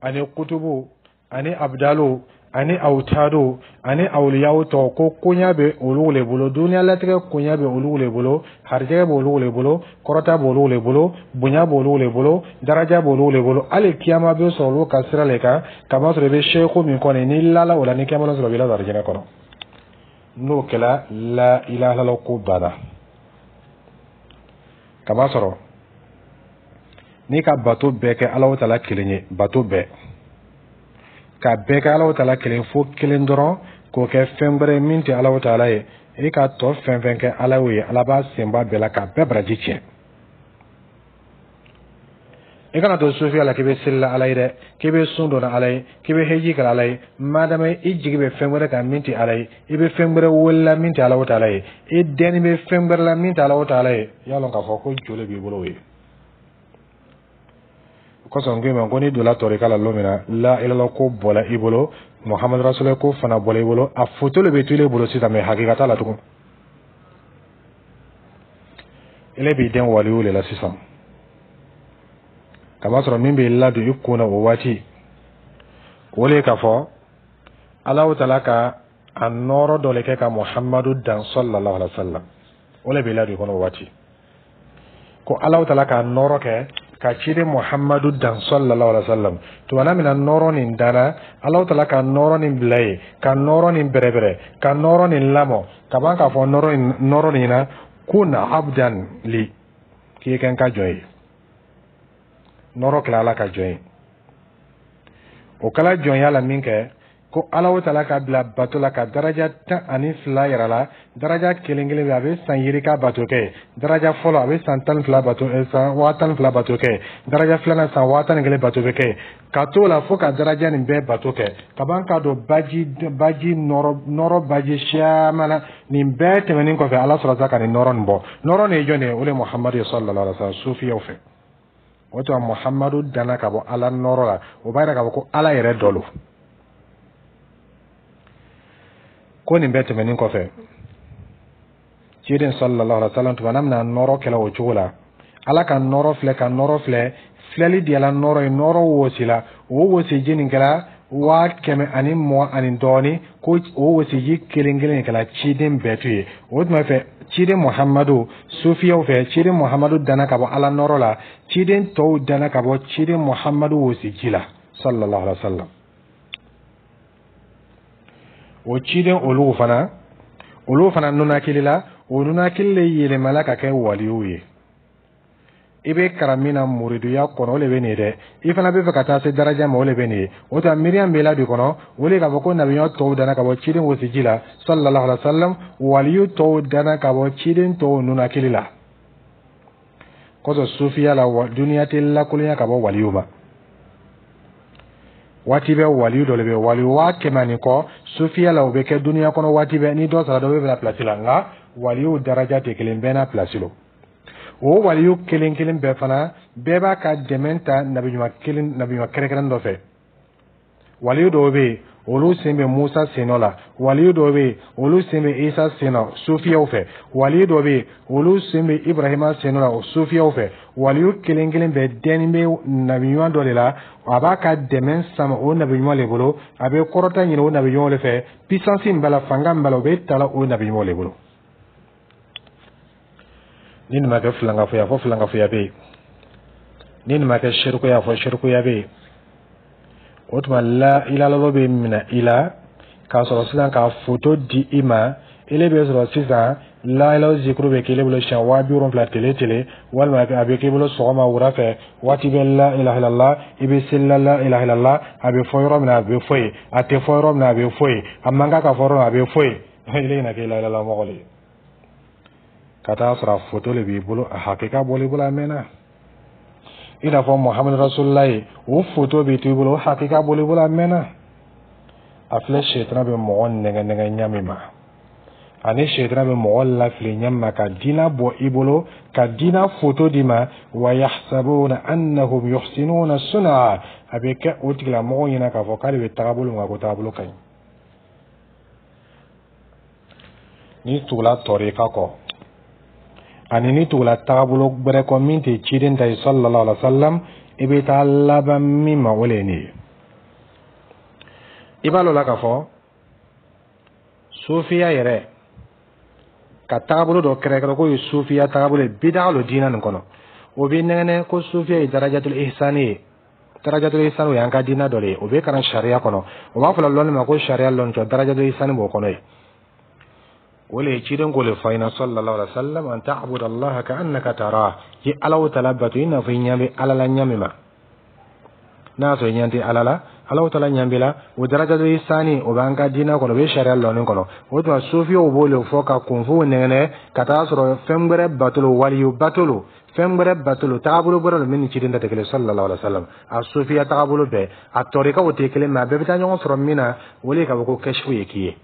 ani kutubu ani abdalu ani awutadu ani awuliyaw tɔ, ko koɲɛ bɛ olu le bolo, duniya latigɛ koɲɛ bɛ olu le bolo, harijɛgɛ b'olu le bolo, kɔrɔta b'olu le bolo, bonya b'olu le bolo, daraja b'olu le bolo, hali kiyama bɛ sɔrɔ olu ka sira le kan. Kamasɔrɔ i bɛ seku min kɔni, n'i lala o la, ni kiyama sɔrɔ, i bɛ la arijinɛ kɔnɔ. N'o kɛra, la ilaha illallah ko banna. Kamasɔrɔ n'i ka bato bɛɛ kɛ Alahu taala kelen ye, bato bɛɛ ka bɛɛ kɛ Alahu taala kelen fo kelen dɔrɔn k'o kɛ fɛn wɛrɛ min tɛ Alahu taala ye, e ka tɔ fɛn fɛn kɛ Ala y'o ye, Ala b'a senba bɛɛ la k'a bɛɛ baraji tiɲɛ. I kana to sufiya la k'i bɛ seli la Ala ye dɛ, k'i bɛ sun don Ala ye, k'i bɛ heji kɛ Ala ye. Madama i jigi bɛ fɛn wɛrɛ kan min tɛ Ala ye, i bɛ fɛn wɛrɛ wele min tɛ Alahu taala ye, i dɛnni bɛ fɛn wɛrɛ la min tɛ Alahu taala ye, i y'a lɔn k'a fɔ ko joli b'i bolo o ye. Kosɔn n ko i ma ko n'i donna tɔrika la lon min na, la ilaha ko bɔla i bolo, Muhamadu rasulillah ko fana bɔla i bolo, a foto le bɛ to i bolo sisan, mais hakika t'a la tugun. Ele b'i den waliyu le la sisan. Kamasɔrɔ min b'i ladon i kun na o waati, o le k'a fɔ Alahu taala ka a nɔɔrɔ dɔ le kɛ ka Muhamadu dan sallallahu alaihi wa sallam, o le b'i ladon i kɔnɔ o waati, ko Alahu taala ka nɔɔrɔ kɛ ka ciden Muhamadu dan sallallahu alaihi wa sallam. Tumana min na nɔɔrɔ nin danna, Alahu taala ka nɔɔrɔ nin bila yen, ka nɔɔrɔ nin bɛrɛbɛrɛ, ka nɔɔrɔ nin lamɔ, ka ban k'a fɔ nɔɔrɔ nin na kun abdan li, k'i kɛ n ka jɔn ye. Nɔɔrɔ kɛla Ala ka jɔn ye. O kɛla jɔnya la min kɛ, Ko Ala taala ka bila bato la ka daraja 12 yɛrɛ la. Daraja kelen kelen bɛ, a bɛ san yirika bato kɛ. Daraja fɔlɔ, a bɛ san 12 bato, san 12,000 bato kɛ. Daraja filanan, san 11,000 bato bɛ kɛ, ka t'o la fo ka daraja nin bɛɛ bato kɛ ka ban, ka don baji baji nɔrɔ nɔrɔ baji caman na. Nin bɛɛ tɛmɛnen kɔfɛ, Ala sɔrɔ sa ka nin nɔrɔ nin bɔ. Nɔrɔ nin ye jɔn de ye? O de ye Muhamadu ye sallallahu alaihi wa sallam. Sufiyaw fɛ, o tuma Muhamadu danna ka bɔ Ala nɔrɔ la. O b'a yira k'a fɔ ko Ala yɛrɛ dɔ lo. Ko nin bɛɛ tɛmɛnen kɔfɛ, ciden sallallahu alaihi wa sallam, tuma n'a bɛna nɔrɔ kɛlɛ o cogo la, Ala ka nɔrɔ filɛ, ka nɔrɔ filɛ, filɛli diyala nɔrɔ ye, nɔrɔ wosila. O wosiji nin kɛra 120,000 ani dɔɔnin. Ko o wosiji kelen kelen kɛra ciden bɛɛ to ye. O tuma fɛ, ciden Muhamadu, sufiyaw fɛ, ciden Muhamadu danna ka bɔ Ala nɔrɔ la, ciden tɔw danna ka bɔ ciden Muhamadu wosiji la sallallahu alaihi wa sallam. O ciden olu fana nunakili la, o nunakili le yɛlɛmala ka kɛ waliw ye. I bɛ kalan min na muriduya kɔnɔ, o de bɛ nin ye dɛ. I fana bɛ fɛ ka taa se daraja ma, o de bɛ nin ye. O tuma miiriya bɛ la de kɔnɔ, o de k'a fɔ ko nabiɲuman tɔw danna ka bɔ ciden wosiji la sallallahu alaihi wa sallam, waliyu tɔw danna ka bɔ ciden tɔw nunakili la. Kɔsɔn sufiya la, duniya tɛ lakolonya ka bɔ waliyu ma. Waati bɛ, waliyu dɔ de bɛ, waliyu 100,000 ani kɔ sufiya la, o bɛ kɛ duniya kɔnɔ waati bɛɛ. Ni dɔ sara, dɔ bɛ bila pilasi la. Nka waliyu daraja tɛ kelen, bɛɛ n'a pilasi lo. O waliyu kelen kelen bɛɛ fana, bɛɛ b'a ka dɛmɛ ta nabiɲuman kelen, nabiɲuman kɛrɛnkɛrɛn dɔ fɛ. Waliyu dɔw bɛ yen, olu sen bɛ Musa sen nɔ la. Waliyu dɔw bɛ yen, olu sen bɛ Isa sen nɔ sufiyaw fɛ. Waliyu dɔw bɛ yen, olu sen bɛ Ibrahima sen nɔ la sufiyaw fɛ. Waliyu kelen kelen bɛɛ dɛnni bɛ nabiɲuman dɔ de la. A b'a ka dɛmɛ sama o nabiɲuman de bolo, a bɛ kɔrɔta ɲini o nabiɲuman de fɛ. Puissance min b'a la, fanga min b'a la, o bɛ ta la o nabiɲuman de bolo. Ni nin ma kɛ filankafoya, fɔ filankafoya bɛ yen. Ni nin ma kɛ serikuya, fɔ serikuya bɛ yen. O tuma la ilalalo bɛ minɛ i la k'a sɔrɔ sisan ka foto di i ma. Ele bɛ sɔrɔ sisan la ilaha zikuru bɛ k'ele bolo siɲɛ 70,000 tele tele, walima a bɛ k'i bolo sɔgɔma, wula fɛ, waati bɛ la ilaha illallah. I bɛ seli la la ilaha illallah, a bɛ fɔ yɔrɔ min na, a bɛ fɔ yen. A tɛ fɔ yɔrɔ min na, a bɛ fɔ yen. A man kan ka fɔ yɔrɔ min na, a bɛ fɔ yen. Ile ɲɛna kɛ la ilaha mɔgɔ de ye, ka taa sɔrɔ a foto de b'i bolo, a hakika bɔl'i bolo a mɛnna. I n'a fɔ Muhamadu Rasulila ye, o foto b'i to i bolo, o hakika bɔl'i bolo a mɛnna. A filɛ, sɛtana bɛ mɔgɔ nɛgɛ nɛgɛ ɲɛ min ma, ani sɛtana bɛ mɔgɔ lafili ɲɛ ma ka diina bɔ i bolo, ka diina foto d'i ma. Wa yahsabuna annahum yuhsinuna sun'a, a bɛ kɛ o tigilamɔgɔw ɲɛna k'a fɔ k'ale bɛ tagabolo min kan, ko tagabolo ka ɲi. N'i tugula tɔrika kɔ ani n'i tugula tagabolo gbɛrɛ kɔ min tɛ ciden ta ye sallallahu alaihi wa sallam, i bɛ taa laban min ma, o de ye nin ye. I b'a lɔn la k'a fɔ sufiya yɛrɛ ka tagabolo dɔ kɛrɛkɛrɛ k'o ye sufiya tagabolo ye, bidaa lo diinɛ nin kɔnɔ. O bɛ nɛgɛnɛ ko sufiya ye darajatul ihsani ye. Darajatul ihsani, o y'an ka diinɛ dɔ de ye, o bɛ kalan sariya kɔnɔ. O b'a fɔ la lɔnni ma ko sariya lɔnni tɔ, darajatul ihsani b'o kɔnɔ ye. O le ye ciden k'o le fɔ an ɲɛna sallallahu alaihi wa sallam: an ta'budu Allaha ka annaka tarah, i Ala taala bato i n'a fɔ i ɲɛ bɛ Ala la ɲɛ min ma. N'a y'a sɔrɔ i ɲɛ tɛ Ala la, Ala taala ɲɛ b'i la. O darajatul ihsani, o b'an ka diinɛ kɔnɔ, o bɛ sariya lɔnni kɔnɔ. O tuma sufiyaw b'o le fɔ ka kunfow nɛgɛnɛ, ka taa sɔrɔ fɛn wɛrɛ batolo, waliyu batolo, fɛn wɛrɛ batolo, tagabolo wɛrɛ lo min ni ciden ta tɛ kelen sallallahu alaihi wa sallam. A sufiya tagabolo bɛɛ, a tɔrikaw tɛ kelen, mɛ a bɛɛ bɛ taa ɲɔgɔn sɔrɔ min na, o de ye k'a fɔ ko kɛsifu ye k'i ye.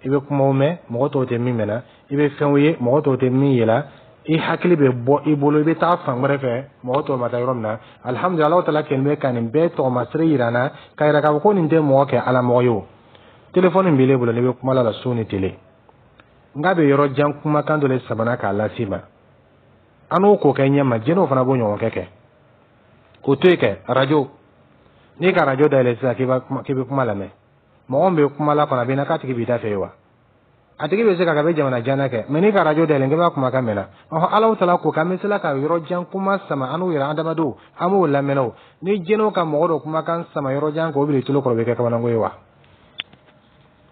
I bɛ kumaw mɛn, mɔgɔ tɔw tɛ min mɛnna. I bɛ fɛnw ye, mɔgɔ tɔw tɛ min ye la. I hakili bɛ bɔ i bolo, i bɛ taa fan wɛrɛ fɛ, mɔgɔ tɔw ma taa yɔrɔ min na. Alihamudulila, Alahu taala kɛlen bɛ ka nin bɛɛ tɔgɔmasere yira an na, k'a yira k'a fɔ ko nin tɛ mɔgɔ kɛ Ala mɔgɔ ye. O telefɔni b'ile bolo, n'i bɛ kuma la su ni tele, n k'a bɛ yɔrɔ jan kumakan dɔ de samana k'a lase i ma. An n'o k'o kɛ ɲɛ ma, jinɛw fana b'o ɲɔgɔn kɛ. K'o to yen kɛ arajo, n'i ka arajo dayɛlɛ sisan k'i bɛ kuma lamɛn, mɔgɔ min bɛ kuma la kɔnɔ, a bɛ na k'a tigi b'i da fɛ ye wa? A tigi bɛ se ka kɛ a bɛ jamana jan kɛ, mɛ n'i ka arajo dayɛlɛ k'i b'a kumakan mɛn na. Ɔhɔn, Alahu taala ko k'an bɛ se ka yɔrɔ jan kuma sama an n'u yɛrɛ adamadenw, an b'o lamɛn. O ni jinɛw ka mɔgɔ dɔ kumakan sama yɔrɔ jan k'o bila i tulo kɔrɔ, o bɛ kɛ kabanako ye wa?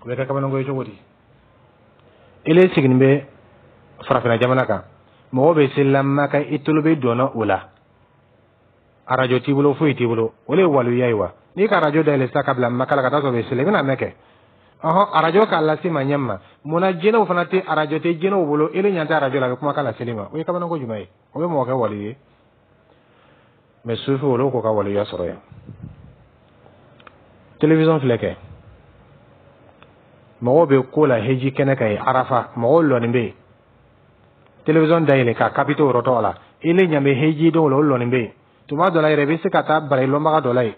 O bɛ kɛ kabanako ye cogo di? Ele sigilen bɛ farafinna jamana kan, mɔgɔ bɛ seli la Maka, i tulo bɛ dɔnna o la, arajo t'i bolo, foyi t'i bolo. O de ye waliya ye wa? N'i ka arajo dayɛlɛ sisan ka bila Maka la ka taa sɔrɔ o bɛ seli, i bɛna mɛn kɛ. Ɔhɔn, arajo k'a lase ma ɲɛ ma mun na? Jinɛw fana tɛ, arajo tɛ jinɛw bolo. Ele ɲɛ tɛ arajo la, a bɛ kumakan laseli ma. O ye kabanako jumɛn ye? O bɛ mɔgɔ kɛ wali ye? Mɛ sufi, olu k'o ka waliya sɔrɔ yan. Télévision filɛ kɛ, mɔgɔw bɛ ko la heji kɛnɛ kan yen, Arafa, mɔgɔw lɔnin bɛ yen. Télévision dayɛlɛ ka capitaux yɔrɔ tɔgɔ la, ile ɲɛ bɛ hejidenw la, o lɔnin bɛ yen. Tuma dɔ la yɛrɛ, i bɛ se ka taa bara i lɔnbaga dɔ la yen,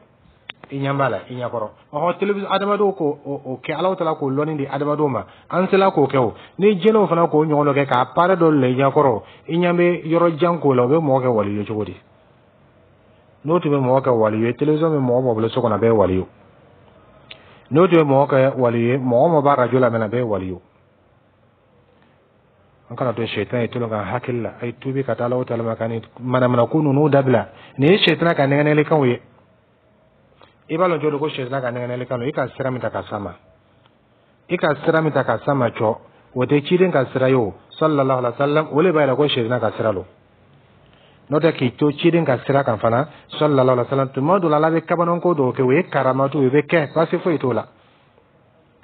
i ɲɛ b'a la i ɲɛkɔrɔ. Ɔhɔn, télévision, adamadenw k'o o kɛ, Alahu taala k'o lɔnni di adamadenw ma, an sela k'o kɛ. O ni jinɛw fana k'o ɲɔgɔn dɔ kɛ k'a appareil dɔ lɔ i ɲɛkɔrɔ, i ɲɛ bɛ yɔrɔ jan k'o la, o bɛ mɔgɔ kɛ wali ye cogo di? N'o tun bɛ mɔgɔ kɛ wali ye, télévision bɛ mɔgɔ mɔgɔ bolo so kɔnɔ, a bɛɛ ye wali ye. N'o tun bɛ mɔgɔ kɛ wali ye, mɔgɔ mɔgɔ b'a radio lamɛn, a bɛɛ ye wali ye. An kana to sɛtan ye tolon ka hakili la. A ye tuubi ka taa Alahu taala ma ka nin manamana ko ninnu dabila. Nin ye sɛtana ka nɛgɛnɛlikanw ye. I b'a lɔn cogo di ko sɛtana ka nɛgɛnɛlikan don? I ka sira min ta ka s'a ma, i ka sira min ta ka s'a ma cɔ, o tɛ ciden ka sira ye o, sallallahu alaihi wa sallam. O le b'a yira ko sɛtana ka sira don. N'o tɛ, k'i to ciden ka sira kan fana, sallallahu alaihi wa sallam, tuma dɔ la, Ala bɛ kabanako dɔw kɛ, o ye karamatu, o bɛ kɛ, baasi foyi t'o la.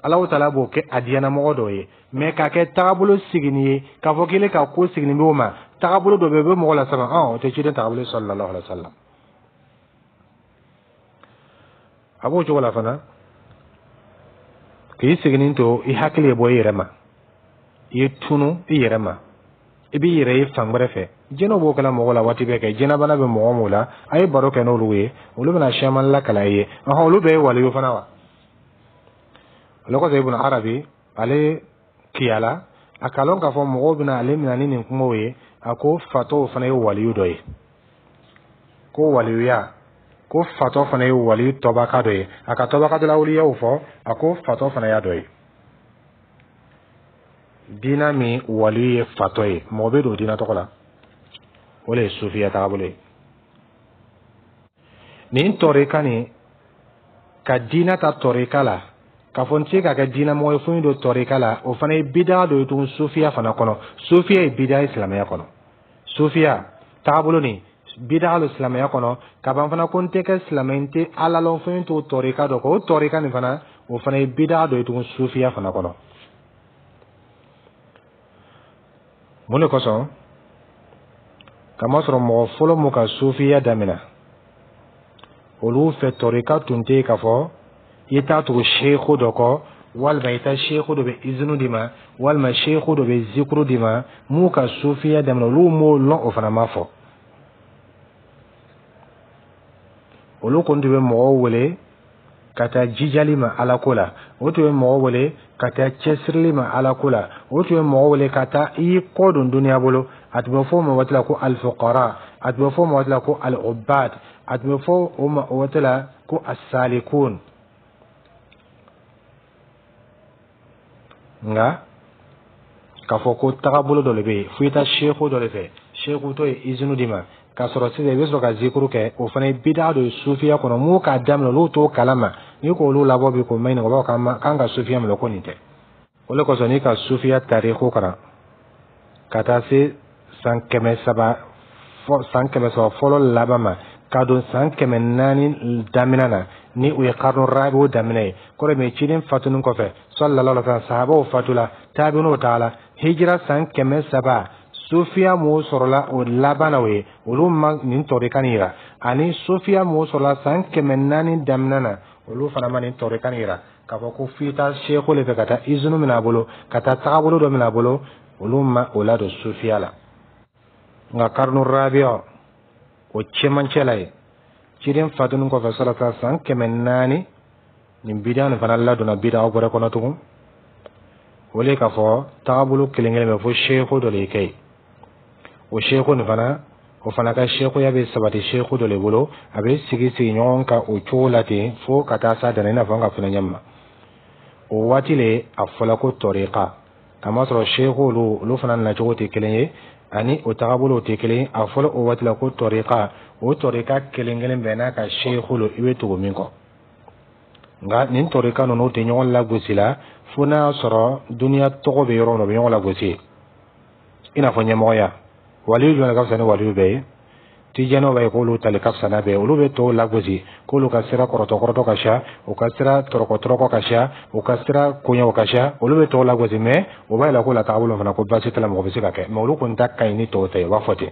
Alahu taala b'o kɛ a diyanamɔgɔ dɔw ye. Mɛ k'a kɛ tagabolo sigini ye, k'a fɔ k'ile ka ko sigini b'o ma, tagabolo dɔ bɛ yen, o bɛ mɔgɔ la sama, o tɛ ciden tagabolo, sallallahu alaihi wa sallam. A b'o cogo la fana, k'i siginin to, i hakili ye bɔ i yɛrɛ ma, i ye tunu i yɛrɛ ma, i b'i yɛrɛ ye fan wɛrɛ fɛ. Jinɛw b'o kɛla mɔgɔ la waati bɛɛ kɛ. Jinɛbana bɛ mɔgɔ mun la, a ye baro kɛ n'olu ye, olu bɛna siyaman lakala i ye. Ɔhɔn, olu bɛɛ ye waliyu fana wa? Ale kɔsɔn, Ibn Arabi, ale kiyala a k'a lɔn k'a fɔ mɔgɔw bɛna ale minɛ ni nin kumaw ye. A ko fatɔw fana ye waliyu dɔ ye, ko waliyuya, ko fatɔ fana ye waliyu tɔbaka dɔ ye. A ka tɔbaka dɔ la awliyaw fɔ, a ko fatɔ fana y'a dɔ ye. Diina min waliyu ye fatɔ ye, mɔgɔ bɛ don diina tɔgɔ la, o le ye sufiya taabolo ye. Nin tɔrika nin ka diina ta tɔrika la, k'a fɔ n tɛ se ka kɛ diinamɔgɔ ye fo n don tɔrika la, o fana ye bidaa dɔ ye tugun sufiya fana kɔnɔ. Sufiya ye bidaa ye silamɛya kɔnɔ. Sufiya taabolo nin, bidaa don silamɛya kɔnɔ. Ka ban fana ko n tɛ kɛ silamɛ, n tɛ Ala lɔn fo n t'o tɔrika dɔ kɔ, o tɔrika nin fana, o fana ye bidaa dɔ ye tugun sufiya fana kɔnɔ. Mun de kosɔn? Kamasɔrɔ mɔgɔ fɔlɔ mun ka sufiya daminɛ, olu fɛ tɔrika tun tɛ yen k'a fɔ i t'a tugu seku dɔ kɔ, walima i taa seku dɔ bɛ izinu d'i ma, walima seku dɔ bɛ zikuru d'i ma. M'u ka sufiya daminɛ, olu m'o lɔn, o fana ma fɔ. Olu kɔni tun bɛ mɔgɔw wele ka taa jijali ma Ala ko la, o tun bɛ mɔgɔw wele ka taa cɛsirili ma Ala ko la, o tun bɛ mɔgɔw wele ka taa i y'i kɔ don duniya bolo. A tun bɛ fɔ o ma waati la ko alifukara, a tun bɛ fɔ o ma waati la ko alubad, a tun bɛ fɔ o ma o waati la ko asalikun. Nka k'a fɔ ko tagabolo dɔ de bɛ yen fo i taa seku dɔ de fɛ, seku tɔ ye izinu d'i ma k'a sɔrɔ sisan i bɛ sɔrɔ ka zikuru kɛ, o fana ye bidaa dɔ ye sufiya kɔnɔ. M'u k'a daminɛ, olu t'o kalama. N'i k'olu labɔ bi k'o maɲininka, u b'a fɔ k'an ka sufiya minɛ ko nin tɛ. O de kosɔn, n'i ka sufiya tariku kalan ka taa se san 300, san 300 fɔlɔ laban ma, ka don san 400 daminɛ na, ni o ye karnu rabiw daminɛ ye, kɔrɔ min ciden fatuni kɔfɛ, sallallahu alaihi wasallam, sahabaw fatula, taabinw taala, hijira san 300, sufiya mɔgɔw sɔrɔla o laban na, o ye olu ma nin tɔrika nin yira. Ani sufiya mɔgɔw sɔrɔla san 400 daminɛ na, olu fana ma nin tɔrika nin yira k'a fɔ ko f'i taa seku le fɛ ka taa izinu minɛ a bolo, ka taa tagabolo dɔ minɛ a bolo. Olu ma o ladon sufiya la. Nka karnu rabiya o cɛmancɛ la ye, ciden fatuni kɔfɛ salata san 400, nin bidaa nin fana ladonna bidaa wɛrɛ kɔnɔ tugun. O le k'a fɔ tagabolo kelen kelen bɛ fo seku dɔ de kɛ yen. O seku nin fana, o fana ka sekuya bɛ sabati seku dɔ de bolo. A bɛ sigi sigi ɲɔgɔn kan o cogo la ten fo ka taa s'a dan na, i n'a fɔ an ka fana ɲɛ ma. O waati le a fɔla ko tɔrika, kamasɔrɔ seku olu fana nacogo tɛ kelen ye, ani o tagabolow tɛ kelen ye. A fɔla o waati la ko tɔrika. O tɔrika kelen kelen bɛɛ n'a ka seku lo, i bɛ tugu min kɔ. Nka nin tɔrika ninnu tɛ ɲɔgɔn lagosi la, fo n'a y'a sɔrɔ duniya tɔgɔ bɛ yɔrɔ min na, u bɛ ɲɔgɔn lagosi, i n'a fɔ ɲɛmɔgɔya. Waliyu jumɛn ka fisa ni waliyu bɛɛ ye? Tijaniw b'a ye k'olu tali ka fisa n'a bɛɛ ye. Olu bɛ tɔw lagosi k'olu ka sira kɔrɔtɔ kɔrɔtɔ ka siya, u ka sira tɔrɔkɔ tɔrɔkɔ ka siya, u ka sira koɲɛw ka siya. Olu bɛ tɔw lagosi, mais o b'a yira k'o la taabolo fana ko baasi t'a la, mɔgɔ bɛ se ka kɛ. Mais olu kɔni ta ka ɲi ni tɔw ta ye, u b'a fɔ ten.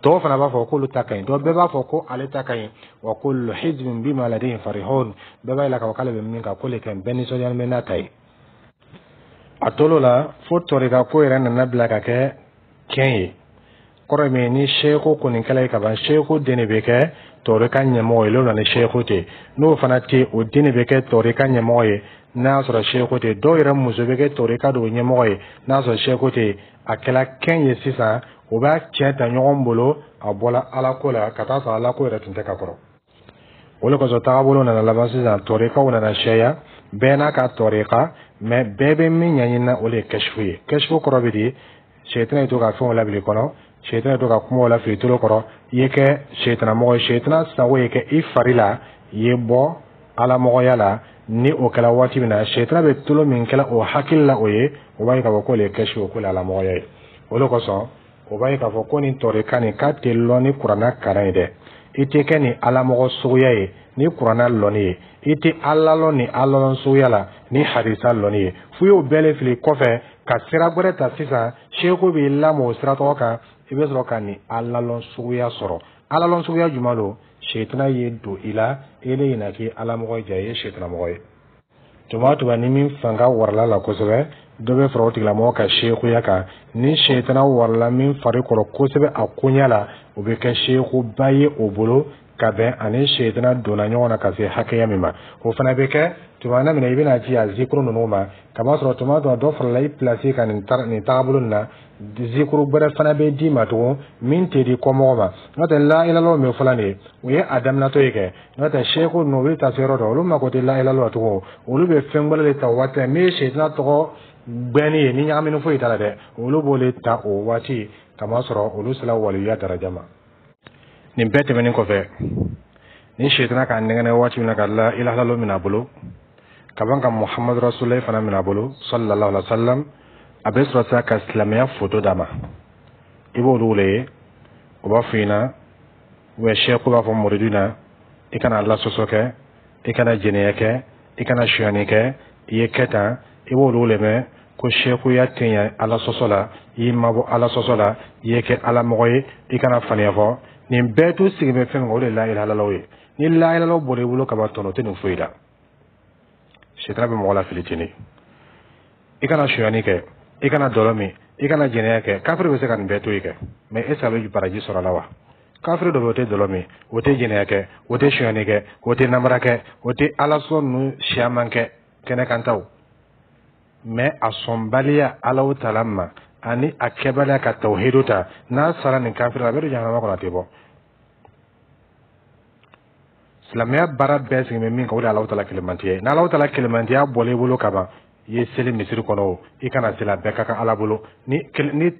Tɔw fana b'a fɔ k'olu ta ka ɲi. Donc bɛɛ b'a fɔ ko ale ta ka ɲi. Wa kullu hizbin bima ladayhim farihun. Bɛɛ b'a yira k'a fɔ k'ale bɛ min kan, k'o le ka ɲi. Bɛɛ nisɔndiyalen bɛ n'a ta ye. A tolo la fo tɔrika ko yɛrɛ nana bila ka kɛ kɛn ye. Kɔrɔ ye min ye, ni seeko kɔni kɛla ye kaban, seeko den de bɛ kɛ tɔrika ɲɛmɔgɔ ye. N'o ni seeko tɛ, n'o fana tɛ, o den de bɛ kɛ tɔrika ɲɛmɔgɔ ye n'a y'a sɔrɔ seeko tɛ. Dɔw yɛrɛ muso bɛ kɛ tɔrika dɔw ɲɛmɔgɔ ye n'a y'a sɔrɔ seeko tɛ. A kɛla kɛn ye sisan, o b'a tiɲɛ ta ɲɔgɔn bolo. A bɔla Ala ko la ka taa sɔrɔ Ala ko yɛrɛ tun tɛ ka kɔrɔ. O de kosɔn tagabolo nana laban sisan, tɔrikaw nana sɛya, bɛɛ n'a ka tɔrika. Mais bɛɛ bɛ min ɲɛɲini, o de ye kɛsifu ye. Kɛsifu kɔrɔ bɛ di? Sɛtana ye to ka fɛnw labila i kɔnɔ, sɛtana ye to ka kumaw lafili tolo kɔrɔ, i ye kɛ sɛtana mɔgɔ ye, sɛtana sago ye kɛ i fari la, i ye bɔ alamɔgɔya la. Ni o kɛra waati min na, sɛtana bɛ tolo min kɛla o hakili la, o ye o b'a ye k'a fɔ k'o le ye kɛsifu ye, k'o le alamɔgɔya ye. O de kosɔn o b'a ye k'a fɔ ko nin tɔrika nin k'a tɛ lɔn ni Kuranna kalan ye dɛ. I tɛ kɛ nin alamɔgɔ suguya ye ni Kuranna lɔnni ye, i tɛ Ala lɔn ni Ala lɔn suguya la ni hadisa lɔnni ye. F'u y'o bɛɛ le fili kɔfɛ ka sira gbɛrɛ ta sisan. Seeko b'i lamɔ o sira tɔgɔ kan, i bɛ sɔrɔ ka nin Ala lɔn suguya sɔrɔ. Ala lɔn suguya jumɛn don? Setana ye don i la, e le ɲina k'i alamɔgɔ ja, i ye setanamɔgɔ ye. Tuma o tuma ni min fanga warala la kosɛbɛ, dɔ bɛ fara o tigilamɔgɔ ka sekuya kan. Ni setana warala min fari kɔrɔ kosɛbɛ a koɲɛ la, o bɛ kɛ sekuba ye o bolo, ka bɛn ani setana donna ɲɔgɔn na ka se hakɛya min ma. O fana bɛ kɛ tuma na min na i bɛna ci a zikuru ninnu ma, kamasɔrɔ tuma dɔ dɔ farala i pilasi kan nin tagabolo nin na. Zikuru gbɛrɛ fana bɛ d'i ma tugun min tɛ di kɔmɔgɔ ma. N'o tɛ, la ilaha min fɔla nin ye, o ye a daminɛtɔ ye kɛ. N'o tɛ, seku ninnu, olu bɛ taa se yɔrɔ dɔ, olu mako tɛ la ilaha la tugun. Olu bɛ fɛn gbɛrɛ de ta o waati la min ye setana tɔgɔ gbɛnni ye, ni ɲagamini foyi t'a la dɛ. Olu b'o de ta o waati, kamasɔrɔ olu sera waliyuya daraja ma. Nin bɛɛ tɛmɛnen kɔfɛ, ni setana k'a nɛgɛnɛ waati min na ka la ilaha minɛ a bolo ka ban ka Muhamadu Rasulayi fana minɛ a bolo, sallallahu alaihi wa sallam, a bɛ sɔrɔ sisan ka silamɛya foto d'a ma. I b'olu wele ye, o b'a fɔ i ɲɛna ou sɛku b'a fɔ muridu na: i kana Ala sɔsɔ kɛ, i kana jɛnɛya kɛ, i kana sonyani kɛ, i ye kɛ tan. I b'olu le mɛn ko sɛkuya tɛ ɲɛ Ala sɔsɔ la, i y'i mabɔ Ala sɔsɔ la, i ye kɛ Ala mɔgɔ ye, i kana faniya fɔ. Nin bɛɛ t'u sigi bɛ fɛn min kan, o de ye la ilaha illallah ye. Ni la ilaha illallah bɔra i bolo ka ban, tɔnɔ tɛ nin foyi la. Sitana bɛ mɔgɔ la fili ten de. I kana sonyani kɛ, i kana dɔlɔ min, i kana jɛnɛya kɛ. Kafiri bɛ se ka nin bɛɛ to yen kɛ, mais est ce que a bɛ baraji sɔrɔ a la wa? Kafiri dɔ bɛ, o tɛ dɔlɔ min, o tɛ jɛnɛya kɛ, o tɛ sonyani kɛ, o tɛ namara kɛ, o tɛ Ala sɔn ninnu siyaman kɛ kɛnɛkantaw. Mais a sɔnbaliya Alaw tala ma ani a kɛbaliya ka tawhidu ta, n'a sara nin kafiri la, a bɛ don jahanama kɔnɔ, a tɛ bɔ. Silamɛya baara bɛɛ sigi bɛ min kan, o de ye Alahu tala kelenmantiya ye. N'Alahu tala kelenmantiya bɔla i bolo ka ban, i ye seli misiri kɔnɔ o, i kana seli, a bɛɛ ka kan Ala bolo. Ni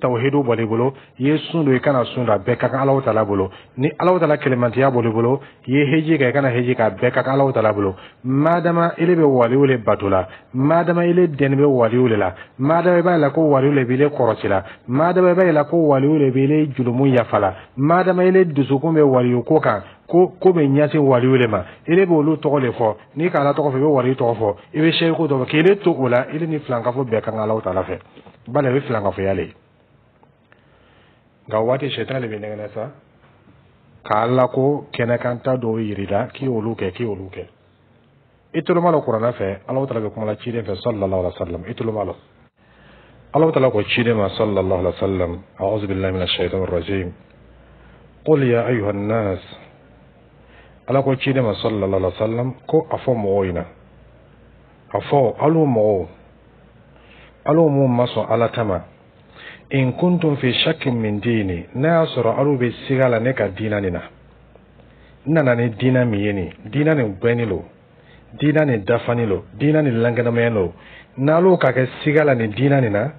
tawhidu bɔla i bolo, i ye sun don, i kana sun don, a bɛɛ ka kan Alahu tala bolo. Ni Alahu tala kelenmantiya bɔla i bolo, i ye heji kɛ, i kana heji kɛ, a bɛɛ ka kan Alahu tala bolo. Madama ile bɛ waliw le bato la, madama ile dɛnni bɛ waliw le la, madama i b'a la ko waliw le b'ile kɔrɔsi la, madama i b'a la ko waliw le b'ile julumu yafa la, madama ile dusukun bɛ waliyu ko kan, ko ko bɛ ɲɛsin waliw le ma, ile b'olu tɔgɔ de fɔ. N'i ka Ala tɔgɔ fɔ, i bɛ waliyu tɔgɔ fɔ, i bɛ seyiku tɔgɔ fɔ, k'ile to o la, ile ni filankafo bɛɛ kan Alahu taala fɛ, bali a bɛ filankafoya le ye. Nka o waati, sɛtana de bɛ nɛgɛnɛ sa k'Ala ko kɛnɛkanta dɔw yir'i la k'i y'olu kɛ, k'i y'olu kɛ. I tolo ma lɔ Kuranɛ fɛ, Alahu taala bɛ kuma la ciden fɛ, sallallahu alaihi wa sallam. I tolo ma lɔ, Alahu taala ko ciden ma, sallallahu alaihi wa sallam: a'udhu billahi minash shaitanir rajim, qul ya ayyuhan nas. Ala ko ciden ma, sallallahu alaihi wa sallam, ko a fɔ mɔgɔw ɲɛna, a fɔ alu mɔgɔw, alu mun ma sɔn Ala ta ma, in kuntum fi shakkin min dini, n'a y'a sɔrɔ alu bɛ siga la ne ka diina nin na, n nana ni diina min ye, nin diina nin gbɛnni lo, diina nin dafani lo, diina nin lankɛnɛmaya lo, n'alu ka kɛ siga la nin diina nin na,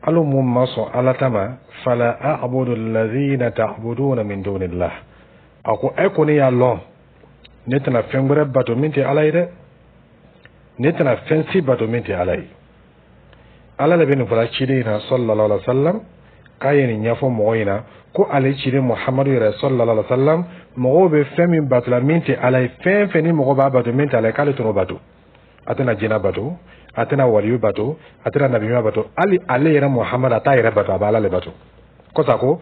alu mun ma sɔn Ala ta ma, fala a'budu alladhina ta'buduna min dunillah. A ko e kɔni y'a lɔn, ne tɛna fɛn wɛrɛ bato min tɛ Ala ye dɛ, ne tɛna fɛn si bato min tɛ Ala ye. Ala de bɛ nin fɔla ciden na, sallallahu alaihi wa sallam, k'a ye nin ɲɛfɔ mɔgɔ ɲɛna. Ko ale ciden Muhamadu yɛrɛ sallallahu alaihi wa sallam, mɔgɔw bɛ fɛn min bato la min tɛ Ala ye, fɛn fɛn ni mɔgɔ b'a bato min tɛ Ala ye, k'ale tɛn'o bato. A tɛna jinɛ bato, a tɛna waliyu bato, a tɛna nabiɲuman bato. Hali ale yɛrɛ Muhamadu, a t'a yɛrɛ bato, a bɛ Ala le bato. Kɔsa ko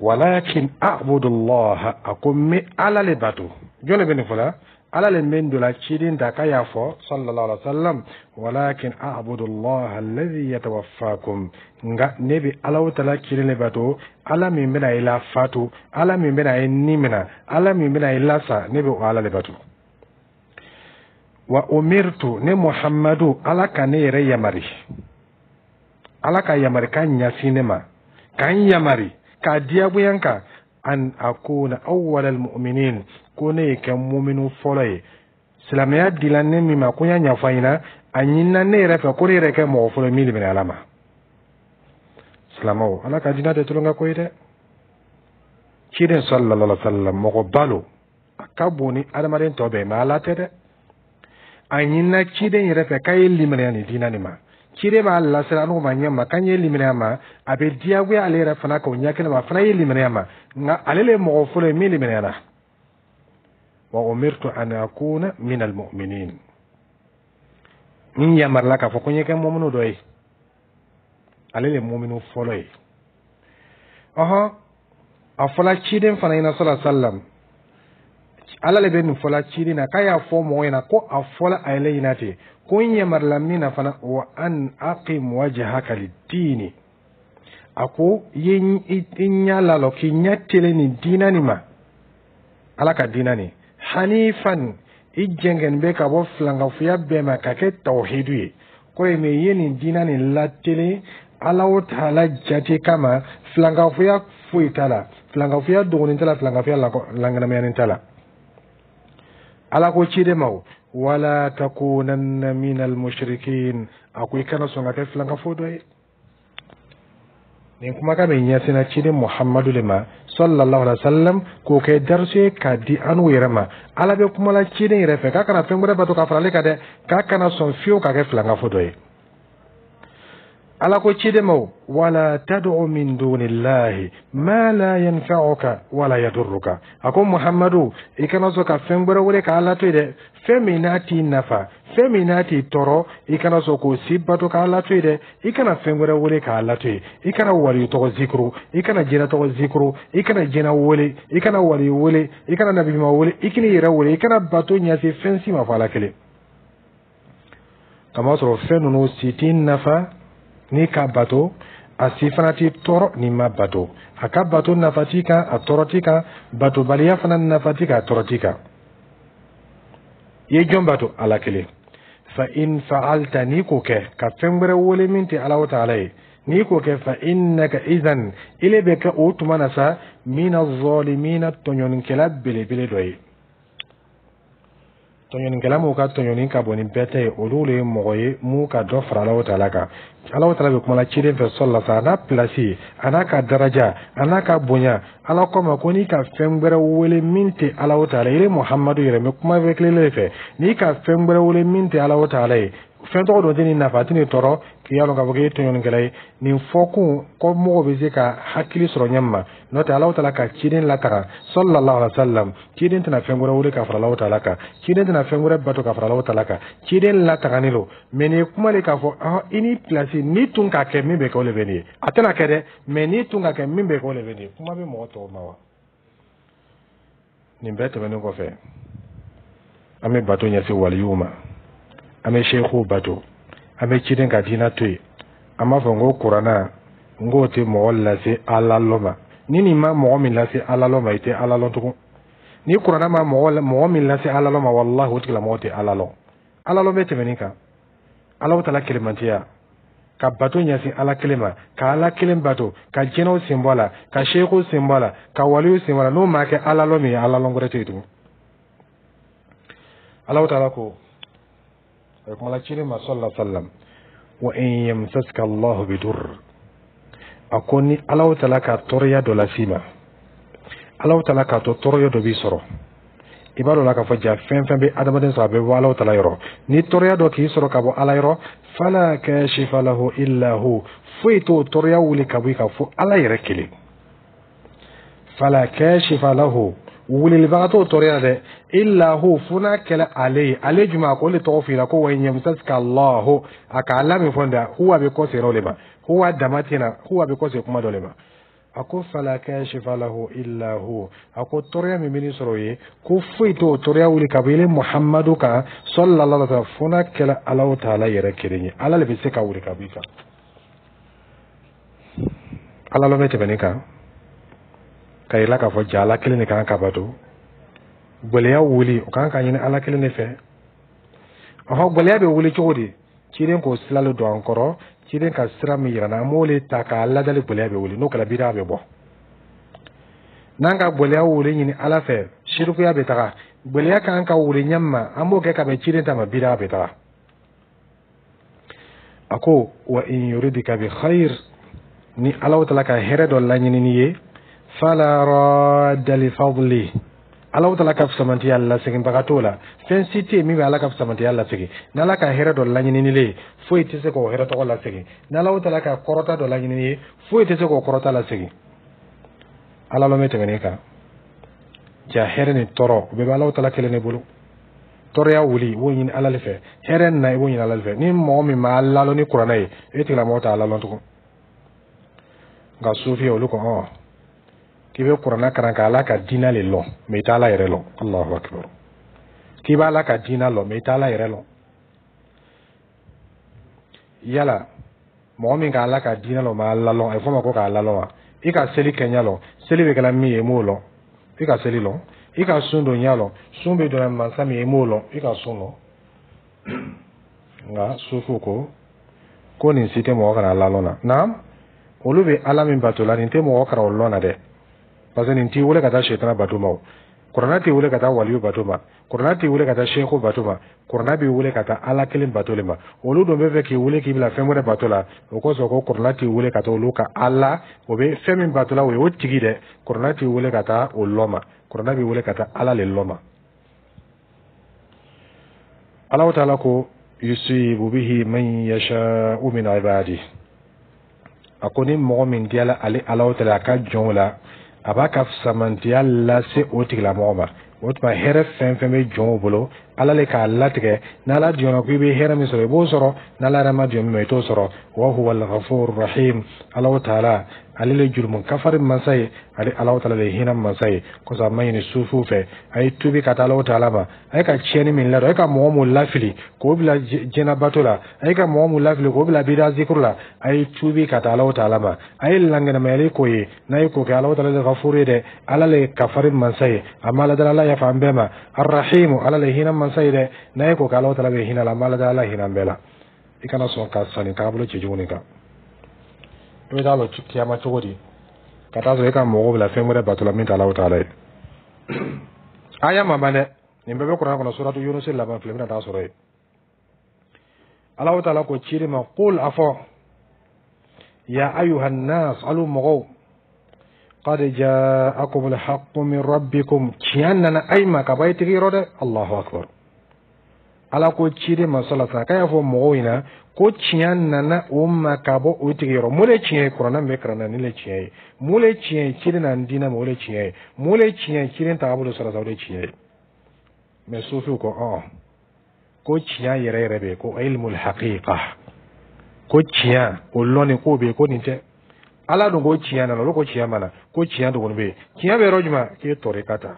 walakin a'budullah, a ko n bɛ Ala le bato. Jɔn de bɛ nin fɔ la? Ala le bɛ don la ciden da k'a y'a fɔ sallallahu alaihi wa sallam, walakin a'budullah alladhi yatawaffakum, nka ne bɛ Ala tala kelen le bato, Ala min bɛna i la fatu, Ala min bɛna i ni minɛ, Ala min bɛna i lasa, ne bɛ o Ala le bato. Wa umirtu, ne Muhammadu, Ala ka ne yɛrɛ yamari, Ala ka yamarikan ɲɛsin ne ma, k'an yamari k'a diyagoya n kan, an akuna awwal almu'minin, ko ne ye kɛ muminu fɔlɔ ye. Silamɛya dila ne min ma, ko n y'a ɲɛfɔ a ɲɛna, a ɲinina ne yɛrɛ fɛ ko ne yɛrɛ kɛ mɔgɔ fɔlɔ min limaniya Ala ma. Silamɛw, Ala ka diinɛ tɛ tulonkɛ ko ye dɛ. Ciden sallallahu alaihi wa sallam, mɔgɔ balo a ka bon ni adamaden tɔ bɛɛ, mais Ala tɛ dɛ. A ɲinina ciden yɛrɛ fɛ k'a ye limaniya nin diinɛ nin ma. Ciden b'a lasira n'o ma ɲɛ ma k'an ye limaniya ma, a bɛ diyagoya ale yɛrɛ fana k'o ɲɛ kelen ma, a fana ye limaniya ma, nka ale le mɔgɔ fɔlɔ ye min limaniyana. Wa umirtu an akuna min almu'minin, n yamarila k'a fɔ ko n ye kɛ mɔminu dɔ ye. Ale le mɔminu fɔlɔ ye. Ɔhɔn, a fɔla ciden fana ɲɛna sallallahu alaihi wasallam, Ala le bɛ nin fɔla ciden na k'a y'a fɔ mɔgɔ ɲɛna ko a fɔla a yɛrɛ ɲɛna ten ko n yamarila min na fana, wa an aqim wajhaka lid-dini, a ko i ye i ɲɛ lalɔ, k'i ɲɛ telen nin diinɛ nin ma, Ala ka diinɛ nin, hanifan, i jɛngɛn bɛ ka bɔ filankafoya bɛɛ ma ka kɛ tawhidu ye. Kɔrɔ ye min i ye nin diinɛ nin latelen Ala taala jate kama, filankafoya foyi t'a la, filankafoya dogonin t'a la, filankafoya lankɛnɛmayanin t'a la. Ala ko ciden ma wala takunanna minal mushrikin, a ko i kana sɔn ka kɛ filankafo dɔ ye. Nin kumakan bɛ ɲɛsinna ciden Muhammadu de ma sallallahu alaihi wa sallam, k'o kɛ darisu ye k'a di an n'u yɛrɛ ma. Ala bɛ kuma la ciden yɛrɛ fɛ k'a kana fɛn wɛrɛ bato ka fara ale kan dɛ, k'a kana sɔn fiyewu ka kɛ filankafo dɔ ye. Ala ko ciden ma wala tad'u min dunillahi ma la yanfa'uka wala yadurruka, a ko Muhammadu, i kana sɔn ka fɛn wɛrɛ wele k'Ala to yen dɛ, fɛn min n'a t'i nafa, fɛn min n'a t'i tɔɔrɔ, i kana sɔn k'o si bato k'Ala to yen dɛ. I kana fɛn wɛrɛ wele k'Ala to yen. I kana waliyu tɔgɔ zikuru, i kana jinɛ tɔgɔ zikuru, i kana jinɛ wele, i kana waliyu wele, i kana nabiɲuman wele, i kana i yɛrɛ wele, i kana bato ɲɛsin fɛn si ma fɔ Ala kelen. Kamasɔrɔ fɛn ninnu si t'i nafa n'i ka bato, a si fana t'i tɔɔrɔ n'i ma bato. A ka bato nafa t'i kan, a tɔɔrɔ t'i kan. Batobaliya fana nafa t'i kan, a tɔɔrɔ t'i kan. I ye jɔn bato? Ala kelen. Fa in fa'alta, n'i k'o kɛ ka fɛn wɛrɛ wele min tɛ Ala taala ye, n'i k'o kɛ, fa innaka izan, ile bɛ kɛ o tuma na sa, mina zalimina, tɔɲɔnikɛla belebele dɔ ye. Tɔɲɔnikɛla m'u ka tɔɲɔni ka bon ni bɛɛ ta ye, olu le ye mɔgɔ ye mun ka dɔ fara Alahu taala kan. Alahu taala bɛ kuma la ciden fɛ sɔlila sa, a n'a pilasi, a n'a ka daraja, a n'a ka bonya. Ala ko ma ko n'i ka fɛn wɛrɛ wele min tɛ Alahu taala ye, Muhamadu yɛrɛ bɛ kuma bɛ kelen de fɛ, n'i ka fɛn wɛrɛ wele min tɛ Alahu taala ye, fɛn tɔgɔ dɔ tɛ nin nafa, a tɛ nin tɔɔrɔ, k'i y'a dɔn k'a fɔ k'e ye tɔɲɔnikɛla ye. Nin fɔkun ko mɔgɔw bɛ se ka hakili sɔrɔ ɲɛ ma, n'o tɛ Alahu taala ka ciden lataga sallallahu alaihi wa sallam, ciden tɛna fɛn wɛrɛ wele ka fara Alahu taala kan, ciden tɛna fɛn wɛrɛ bato ka fara Alahu taala kan. Ciden lataganen don, mais nin ye kuma de k'a fɔ i ni pilasi n'i tun k'a kɛ, min bɛ kɛ o de bɛ nin ye. A tɛna kɛ dɛ, mais n'i tun k'a kɛ, min bɛ kɛ o de bɛ nin ye. Kuma bɛ mɔgɔ tɔw ma wa? Nin bɛɛ tɛmɛnen kɔfɛ, an bɛ bato ɲɛsin waliyuw ma, an bɛ seekuw bato, an bɛ ciden ka diinɛ to yen. An b'a fɔ n ko kuranna, n k'o tɛ mɔgɔ lase Ala lɔ ma. Ni nin ma mɔgɔ min lase Ala lɔ ma, i tɛ Ala lɔn tugun. Ni kuranna ma mɔgɔ min lase Ala lɔ ma, walahi, o tigilamɔgɔ tɛ Ala lɔn. Ala lɔn bɛ tɛmɛ nin kan. Ala tala kelenmantiya, ka bato ɲɛsin Ala kelen ma, ka Ala kelen bato, ka jinɛw sen bɔ a la, ka seekuw sen bɔ a la, ka waliw sen bɔ a la, n'o ma kɛ Ala lɔn min ye, Ala lɔn wɛrɛ tɛ yen tugun. Ala taala ko a bɛ kuma la ciden ma sallallahu alaihi wa sallam, wa in yamsaska Allahu bidur, a ko ni Ala taala ka tɔɔrɔya dɔ las'i ma, Ala taala k'a to tɔɔrɔya dɔ b'i sɔrɔ, i b'a dɔn la k'a fɔ ja fɛn fɛn bɛ adamaden sɔrɔ, a bɛ bɔ Ala taala yɔrɔ. Ni tɔɔrɔya dɔ k'i sɔrɔ ka bɔ Ala yɔrɔ, fala kashifa lahu illa hu, foyi t'o tɔɔrɔya wuli ka bɔ i kan fo Ala yɛrɛ kelen. Fala kashifa lahu, wulilibaga t'o tɔɔrɔya la dɛ, illa hu, fo n'a kɛla ale ye. Ale jumɛn? A ko le tɔgɔ f'i la ko wa in yamsaska Allahu, a ka ala min fɔ nin dɛ, huwa bɛ kɔsegin o de ma, huwa dama tɛna, huwa bɛ kɔsegin kuma dɔ de ma. A ko fala kashifa lahu illa hu, a ko tɔɔrɔya min bɛ nin sɔrɔ o ye, ko foyi t'o tɔɔrɔya wuli ka bɔ ile Muhammadu kan sallallahu alaihi wa sallam, fo n'a kɛla Alahu taala yɛrɛ kelen ye. Ala le bɛ se ka wuli ka bɔ i kan. Ala lɔn bɛ tɛmɛ nin kan ka yira k'a fɔ ja Ala kelen de kan ka bato. Gwɛlɛya wuli, o kan ka ɲini Ala kelen de fɛ. Ɔhɔ, gwɛlɛya bɛ wuli cogo di? Ciden k'o sira le don an kɔrɔ. Ciden ka sira min yira an b'o le ta k'a ladali. Gwɛlɛya bɛ wuli, n'o kɛra bida bɛ bɔ. N'an ka gwɛlɛya wuli ɲini Ala fɛ, sirikuya bɛ taga. Gwɛlɛya kan ka wuli ɲɛ ma, an b'o kɛ ka bɛn ciden ta ma, bida bɛ taga. A ko wa in yuridika bi khair, ni Ala taala ka hɛrɛ dɔ laɲini ni ye, fala radda li fadli, Ala taala ka fisamantiya laseginbaga t'o la. Fɛn si tɛ yen min bɛ Ala ka fisamantiya lasegin. N'Ala ka hɛrɛ dɔ laɲini ye, foyi tɛ se k'o hɛrɛ tɔgɔ lasegin. N'Ala taala ka kɔrɔta dɔ laɲini ye, foyi tɛ se k'o kɔrɔta lasegin. Ala lɔn bɛ tɛmɛ kan ja, hɛrɛ ni tɔɔrɔ, o bɛɛ bɛ Ala taala kelen de bolo. Tɔɔrɔya wuli, i b'o ɲini Ala de fɛ. Hɛrɛ na, i b'o ɲini Ala de fɛ. Ni mɔgɔ min ma lalɔn ni kuranɛ ye, e tigilamɔgɔ t'a lalɔn tugun. Nka sufiya olu ko ɔ k'i bɛ kuranɛ karan ka Ala ka diinɛ le lɔn, mɛ i t'a Ala yɛrɛ lɔn. Allahu akbar! K'i b'a Ala ka diinɛ lɔn, mɛ i t'a Ala yɛrɛ lɔn. Yala mɔgɔ min ka Ala ka diinɛ lɔn ma Ala lɔn, a bɛ fɔ o ma ko k'a lalɔn wa? I ka seli kɛ ɲɛ lɔn, seli bɛ kɛla min ye, i m'o lɔn. I ka seli lɔn, i ka sun don ɲɛ lɔn, sun bɛ donna mansa min ye, i m'o lɔn. I ka sun lɔn. Nka sufiw ko ko nin si tɛ mɔgɔ kana lalɔn na. Naam, olu bɛ Ala min bato la, nin tɛ mɔgɔ kana o lɔn na dɛ, parce que nin t'i wele ka taa sɛtana bato ma. O kuranɛ t'i wele ka taa waliyu bato ma, kuranɛ t'i wele ka taa seku bato ma, kuranɛ b'i wele ka taa Ala kelen bato le ma. Olu dun bɛ fɛ k'i wele k'i bila fɛn wɛrɛ bato la. O kosɔn ko kuranɛ t'i wele ka taa olu ka Ala, o bɛ fɛn min bato la, o ye o tigi dɛ. Kuranɛ t'i wele ka taa o lɔ ma, kuranɛ b'i wele ka taa Ala le lɔ ma. Alahu taala ko yusibu bihi man yasha'u min ibadi, a ko ni mɔgɔ min diyala ale Alahu taala a ka jɔnw la, a b'a ka fisamantiya lase o tigilamɔgɔ ma. O tuma hɛrɛ fɛn fɛn bɛ jɔnw bolo, Ala le k'a latigɛ. N'Ala jɔnna ko i bɛ hɛrɛ min sɔrɔ, i b'o sɔrɔ. N'Ala yɛrɛ ma jɔn min ma, i t'o sɔrɔ. Wa huwa al-ghafur rahim, Alahu taala ale le jurumu kafari mansa ye, ale Alahu taala le ye hinɛ mansa ye. Kosɔn a ma ɲini sufiw fɛ, a ye tubi ka taa Alahu taala ma. A ye ka tiɲɛni min ladon, a ye ka mɔgɔ mun lafili k'o bila jɛnɛbato la, a ye ka mɔgɔ mun lafili k'o bila bida zikuru la, a ye tubi ka taa Alahu taala ma. A ye langɛnɛmayali k'o ye. N'a ye k'o kɛ, Alahu taala le gafuru ye dɛ, Ala le kafari mansa ye. A ma ala dala, Ala yafa an bɛɛ ma. Arrahimu, Ala le hinɛ mansa ye dɛ. N'a ye k'o kɛ, Alahu taala bɛ hinɛ la. A ma ala dala, Ala hinɛ an bɛɛ la. I kana sɔn ka sanni taabolo cɛjugu nin kan. I bɛ taa lɔ kiyama cogo di ka taa sɔrɔ e ka mɔgɔw bila fɛn wɛrɛ bato la min tɛ Alahu taala ye? Aya ma ban dɛ, nin bɛɛ bɛ kuranɛ kɔnɔ. Suratu Yunus laban filɛ, i bɛna taa sɔrɔ yen. Alahu taala ko ciden ma qul, a fɔ ya ayuha nnas, alu mɔgɔw, qad ja'akum alhaqqu min rabbikum, tiɲɛ nana ayi ma ka bɔ a tigi yɔrɔ dɛ. Allahu akbar! Ala ko ciden ma sɔlɔ sa k'a y'a fɔ mɔgɔw ɲɛna ko tiɲɛ nana o ma ka bɔ o tigi yɔrɔ. Mun de tiɲɛ ye? Kuranɛ min bɛ kalan na, nin le tiɲɛ ye. Mun le tiɲɛ ye? Ciden na diinɛ ma, o le tiɲɛ ye. Mun le tiɲɛ ye? Ciden taabolo sɔrɔ sa, o de tiɲɛ ye. Mɛ sufiw ko ɔ ko tiɲɛ yɛrɛ yɛrɛ bɛ yen, ko ilmul haqiqa, ko tiɲɛ o lɔnni k'o bɛ yen, ko nin tɛ. Ala dun ko tiɲɛ nana, olu ko tiɲɛ ma na, ko tiɲɛ dɔgɔnin bɛ yen. Tiɲɛ bɛ yɔrɔ jumɛn? K'e tɔrika ta.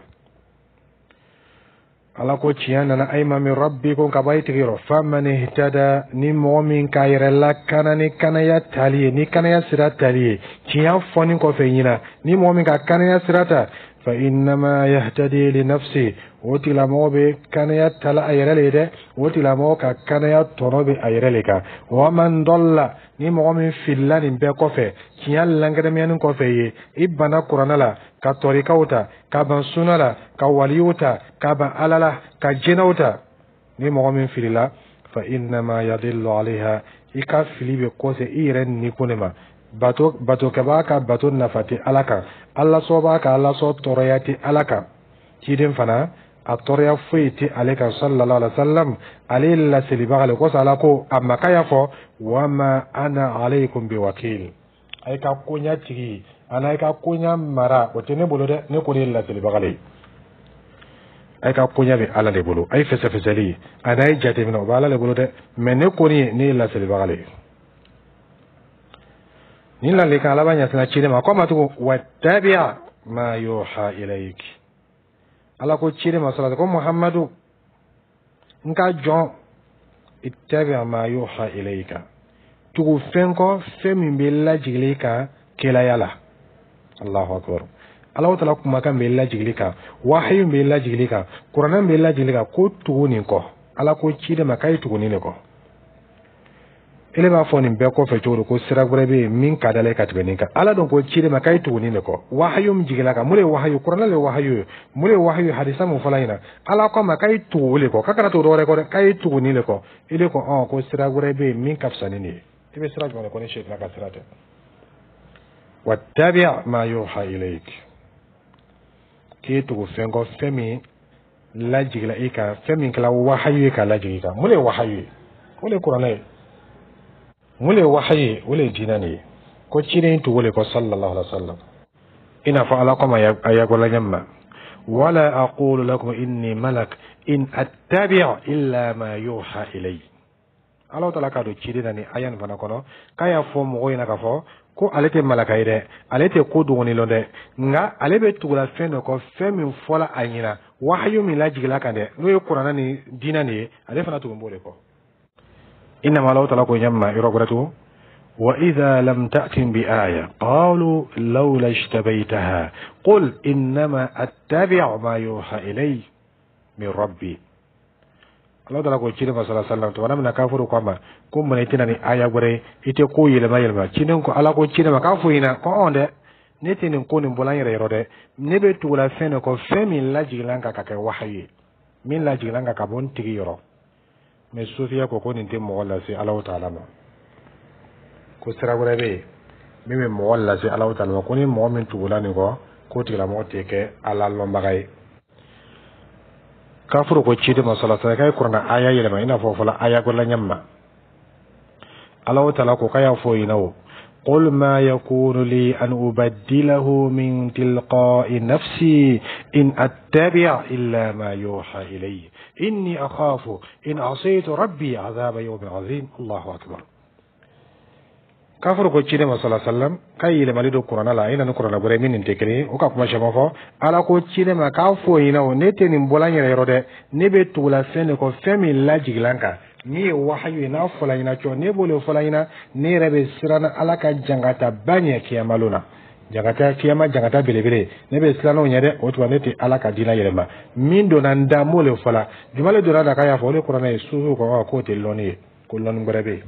Ala ko tiɲɛ nana ayima min rabbikum, ka bɔ a tigi yɔrɔ. Faman ihtada, ni mɔgɔ min k'a yɛrɛ lakana ni kanaya tali ye, ni kanaya sira tali ye, tiɲɛ fɔni kɔfɛ ɲina, ni mɔgɔ min ka kanaya sira ta, fa innama yahtadi li nafsi, o tigilamɔgɔ bɛ kanaya tala a yɛrɛ le ye dɛ. O tigilamɔgɔ ka kanaya tɔnɔ bɛ a yɛrɛ le kan. Wa man dalla, ni mɔgɔ min filila nin bɛɛ kɔfɛ, tiɲɛ lankɛnɛmɛyani kɔfɛ ye, i banna kuranɛ la, ka tɔrikaw ta, ka ban suna la, ka waliw ta, ka ban Ala la, ka jinɛw ta, ni mɔgɔ min filila, fa innama yadillu alayha, i ka fili bɛ kɔsɛ i yɛrɛ nikun de ma. Bato batokɛbaa ka bato nafa tɛ Ala kan, Ala sɔbaa ka Ala sɔ tɔɔrɔya tɛ Ala kan. Ciden fana a tɔɔrɔya foyi tɛ ale kan sallallahu alaihi wa sallam, ale ye laselibaga le kosɔn. Ala ko a ma k'a y'a fɔ wa ma ana alaykum biwakil, a ye ka koɲa tigi A n'a ka koɲa mara, o tɛ ne bolo dɛ. Ne kɔni ye laselibaga le ye. A ka koɲa bɛ Ala de bolo. A ye fɛsɛfɛsɛli a n'a ye jateminɛ, o bɛ Ala de bolo dɛ. Mais ne kɔni ye, ne ye laselibaga le ye. Nin ladilikan laban ɲɛsina ciden ma, ko ma tugun: wattabi ma yuha ilayk. Ala ko ciden ma sɔrɔ ko: Muhammadu, n ka jɔn, ittabi ma yuha ilayka, tugu fɛn kɔ, fɛn min bɛ lajigili kan kelaya la. Allahu akbar! Ala taala kumakan bɛ lajigili kan, wahayu bɛ lajigili kan, Kuranɛ bɛ lajigili kan, ko tugu nin kɔ. Ala ko ciden ma k'a ye tugu nin de kɔ. Ele b'a fɔ nin bɛɛ kɔfɛ cogo di ko sira wɛrɛ bɛ yen min ka d'ale ye ka tɛmɛ nin kan? Ala dun ko ciden ma k'a ye tugu nin de kɔ, wahayu min jigila kan. Mun de ye wahayu? Kuranɛ de ye wahayu ye. Mun de ye wahayu ye? Hadisa mun fɔla ɲɛna. Ala ko a ma k'a ye tugu o de kɔ, k'a kana tugu dɔwɛrɛ kɔ dɛ, k'a ye tugu nin de kɔ. Ele ko ɔn ko sira wɛrɛ bɛ yen min ka fisa ni nin ye. I bɛ sira jumɛn de kɔ ni sɛtana ka sira tɛ? Wattabi ma yuha ilayk, k'i tugu fɛn kɔ, fɛn min lajigila i kan, fɛn min kɛra wahayu ye ka lajigin i kan. Mun de ye wahayu ye? O de ye Kuranɛ ye. Mun de ye wahayu ye? O de ye diinɛ de ye. Ko ciden tugu le kɔ, sallallahu alaihi wa sallam. I n'a fɔ Ala kɔma a yagola ɲɛ ma: wala aqulu lakum inni malak in attabi' illa ma yuha ilay. Ala taala k'a don ciden na ni aya nin fana kɔnɔ, k'a y'a fɔ mɔgɔw ɲɛna k'a fɔ ko ale tɛ malaka ye dɛ, ale tɛ ko dogoni lɔn dɛ, nka ale bɛ tugula fɛn dɔ kɔ, fɛn min fɔla a ɲɛna, wahayu min lajigila kan dɛ, n'o ye Kuranɛ ni diinɛ nin ye, ale fana tugun b'o de kɔ. Inama Ala taala ko ɲɛ ma yɔrɔ wɛrɛ tugun: وإذا لم تأتهم بآية قالوا لولا اجتبيتها قل إنما أتبع ما يوحى إلي من ربي. Ala taala ko ciden ma sala sallam, tuma min na kafuru ko a ma ko mun i tɛna ni aya wɛrɛ ye, i tɛ ko yɛlɛma yɛlɛma, ciden ko, Ala ko ciden ma k'a fɔ ɲɛna ko ɔn dɛ, ne tɛ nin ko nin bɔla n yɛrɛ yɔrɔ dɛ, ne bɛ tugula fɛn de kɔ, fɛn min lajigila n kan ka kɛ wahayu ye, min lajigila n kan ka bɔ n tigi yɔrɔ. Mais sofiya ko nin tɛ mɔgɔ lase Ala taala ma, ko sira wɛrɛ bɛ yen min bɛ mɔgɔ lase Ala taala ma, ko ni mɔgɔ min tugula nin kɔ, k'o tigilamɔgɔ tɛ kɛ Ala lɔnbaga ye. Kafuru ko ciden ma sala sala k'a ye Kuranɛ aya yɛlɛma, i n'a fɔ fɔla aya gbɛrɛ ɲɛ ma. Ala taala ko k'a y'a fɔ ɲɛna o: قل ما يكون لي أن أبدله من تلقاء نفسي إن أتبع إلا ما يوحى إلي إني أخاف إن عصيت ربي عذاب يوم عظيم. الله أكبر! Kafuru ko ciden ma sala sallam k'a ye yɛlɛmali don Kuranɛ la, i na ni Kuranɛ wɛrɛ min nin tɛ kelen ye, o ka kuma caman fɔ. Ala ko ciden ma k'a fɔ ɲɛna o: ne tɛ nin bɔla n yɛrɛ yɔrɔ dɛ, ne bɛ tugula fɛn de kɔ, fɛn min lajigila n kan, min ye wahayu ye, n'a fɔla ɲɛna cɔ, ne b'o de fɔla ɲɛna. Ne yɛrɛ bɛ siran Ala ka jangataba ɲɛ kiyama lon na, jangata kiyama, jangata belebele, ne bɛ siran o ɲɛ dɛ. O tuma ne tɛ Ala ka diinɛ yɛlɛma. Min donna n da, n b'o de fɔla. Juma le donna da k'a y'a fɔ? O de Kuranɛ ye. Susu ko k'o tɛ lɔnni ye, ko lɔnni wɛrɛ bɛ yen.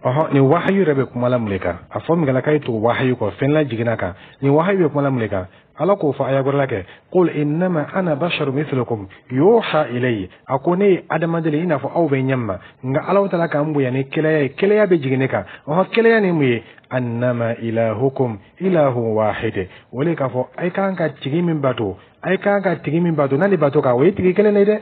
Ɔhɔn, nin wahayu yɛrɛ bɛ kuma la mun de kan? A fɔ min kɛla k'a ye tugu wahayu kɔ, fɛn lajiginna kan, nin wahayu bɛ kuma la mun de kan? Ala k'o fɔ aya wɛrɛ la kɛ: qul innama ana basharu mithlukum yuha ilayya. A ko ne ye adamaden i n'a fɔ aw bɛ ɲɛ ma, nka Ala taala k'an bonya ni kelaya ye, kelaya bɛ jigin ne kan. Ɔhɔn, kelaya ni mun ye? Annama ilahukum ilahun wahid. O de k'a fɔ a kan ka tigi min bato, a kan ka tigi min bato, n'ale bato kan, o ye tigi kelen de ye dɛ.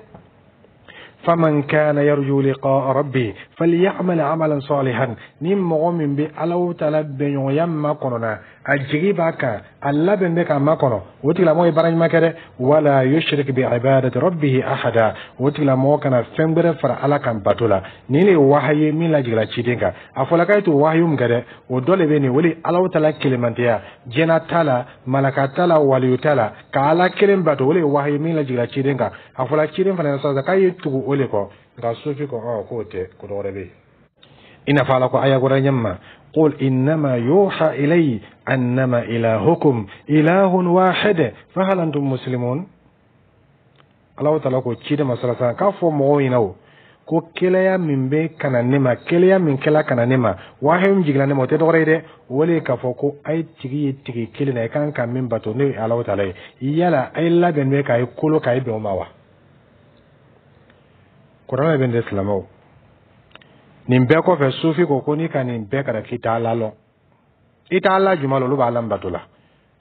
Faman kana yarju liqa'a rabbi falyamal amalan salihan. Ni mɔgɔ min bɛ Ala taala bɛnɲɔgɔnya makɔnɔ na, a jigi b'a kan, a labɛn bɛ k'a makɔnɔ, o tigilamɔgɔ ye baara ɲuman kɛ dɛ. Wala yushrik bi ibadati rabbihi ahada. O tigilamɔgɔ kana fɛn wɛrɛ fara Ala kan bato la. Nin de ye wahayi ye min lajigila ciden kan. A fɔla k'a ye to wahayu min kɛ dɛ, o dɔ de bɛ nin o de: Ala taala kelenmantiya, jɛna t'a la, malaka t'a la, waliyu t'a la, ka Ala kelen bato, o de ye wahayu min lajigila ciden kan. A fɔla ciden fana sisan k'a ye tugu o de kɔ. Nka sofi ko ɔ k'o tɛ, ko dɔ wɛrɛ bɛ yen. I n'a fɔ Ala ko aya wɛrɛ ɲɛ ma: قل إنما يوحى إلي أنما إلهكم إله واحد فهل أنتم مسلمون. Ala taala ko ciden ma sala k'a fɔ mɔgɔw ɲɛna o ko kelaya min bɛ ka na ne ma, kelaya min kɛla ka na ne ma, wahayu min jiginna ne ma, o tɛ dɔwɛrɛ ye dɛ, o de ye k'a fɔ ko a ye tigi ye tigi kelen na, i kan ka min bato, n'o ye Ala taala ye. Yala a ye labɛn bɛ k'a ye kolo k'a ye bɛn o ma wa? Kuranɛ bɛ nin de. Silamɛw, nin bɛɛ kɔfɛ, sufi ko n'i ka nin bɛɛ kɛra k'i t'a la lɔn, i t'a la juma la, olu b'a la bato la.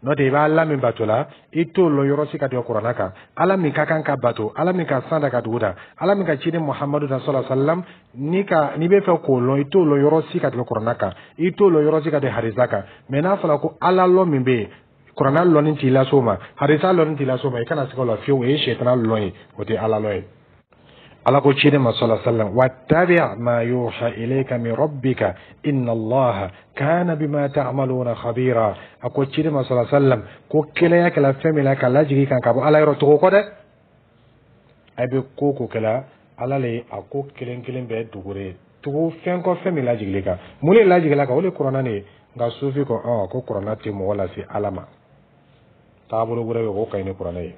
N'o tɛ, i b'Ala min bato la, i t'o lɔn yɔrɔ si ka tigɛ Kuranna kan. Ala min ka kan ka bato, Ala min ka san da ka dugu da, Ala min ka ciden Muhamadu da sɔlɔ salam, ni ka n'i bɛ fɛ k'o lɔn, i t'o lɔn yɔrɔ si ka tigɛ Kuranna kan, i t'o lɔn yɔrɔ si ka tigɛ hadisa kan. Mɛ n'a fɔra ko Ala lɔn min bɛ yen, Kuranna lɔnni t'i las'o ma, hadisa lɔnni t'i las'o ma, i kana siga o la fiyewu. O ye sɛtana lɔn ye, o tɛ Ala lɔn ye. Ala ko ciden ma sɔlɔ sallam: wattabi ma yuha ilayka min rabbika inna Allaha kana bima ta'maluna khabira. A ko ciden ma sɔlɔ sallam ko kelenya kɛla fɛn min na ka lajigi kan ka bɔ Ala yɔrɔ, togo kɔ dɛ. A bɛ ko ko kɛla, Ala le a ko kelen kelen bɛɛ dugure tugu fɛn kɔ, fɛn min lajigili kan. Mun de lajigila kan? O de Kuranna de ye. Nka sufi ko ko Kuranna tɛ mɔgɔ lase Ala ma, taabolo wɛrɛ bɛ k'o ka ɲi ni Kuranna ye.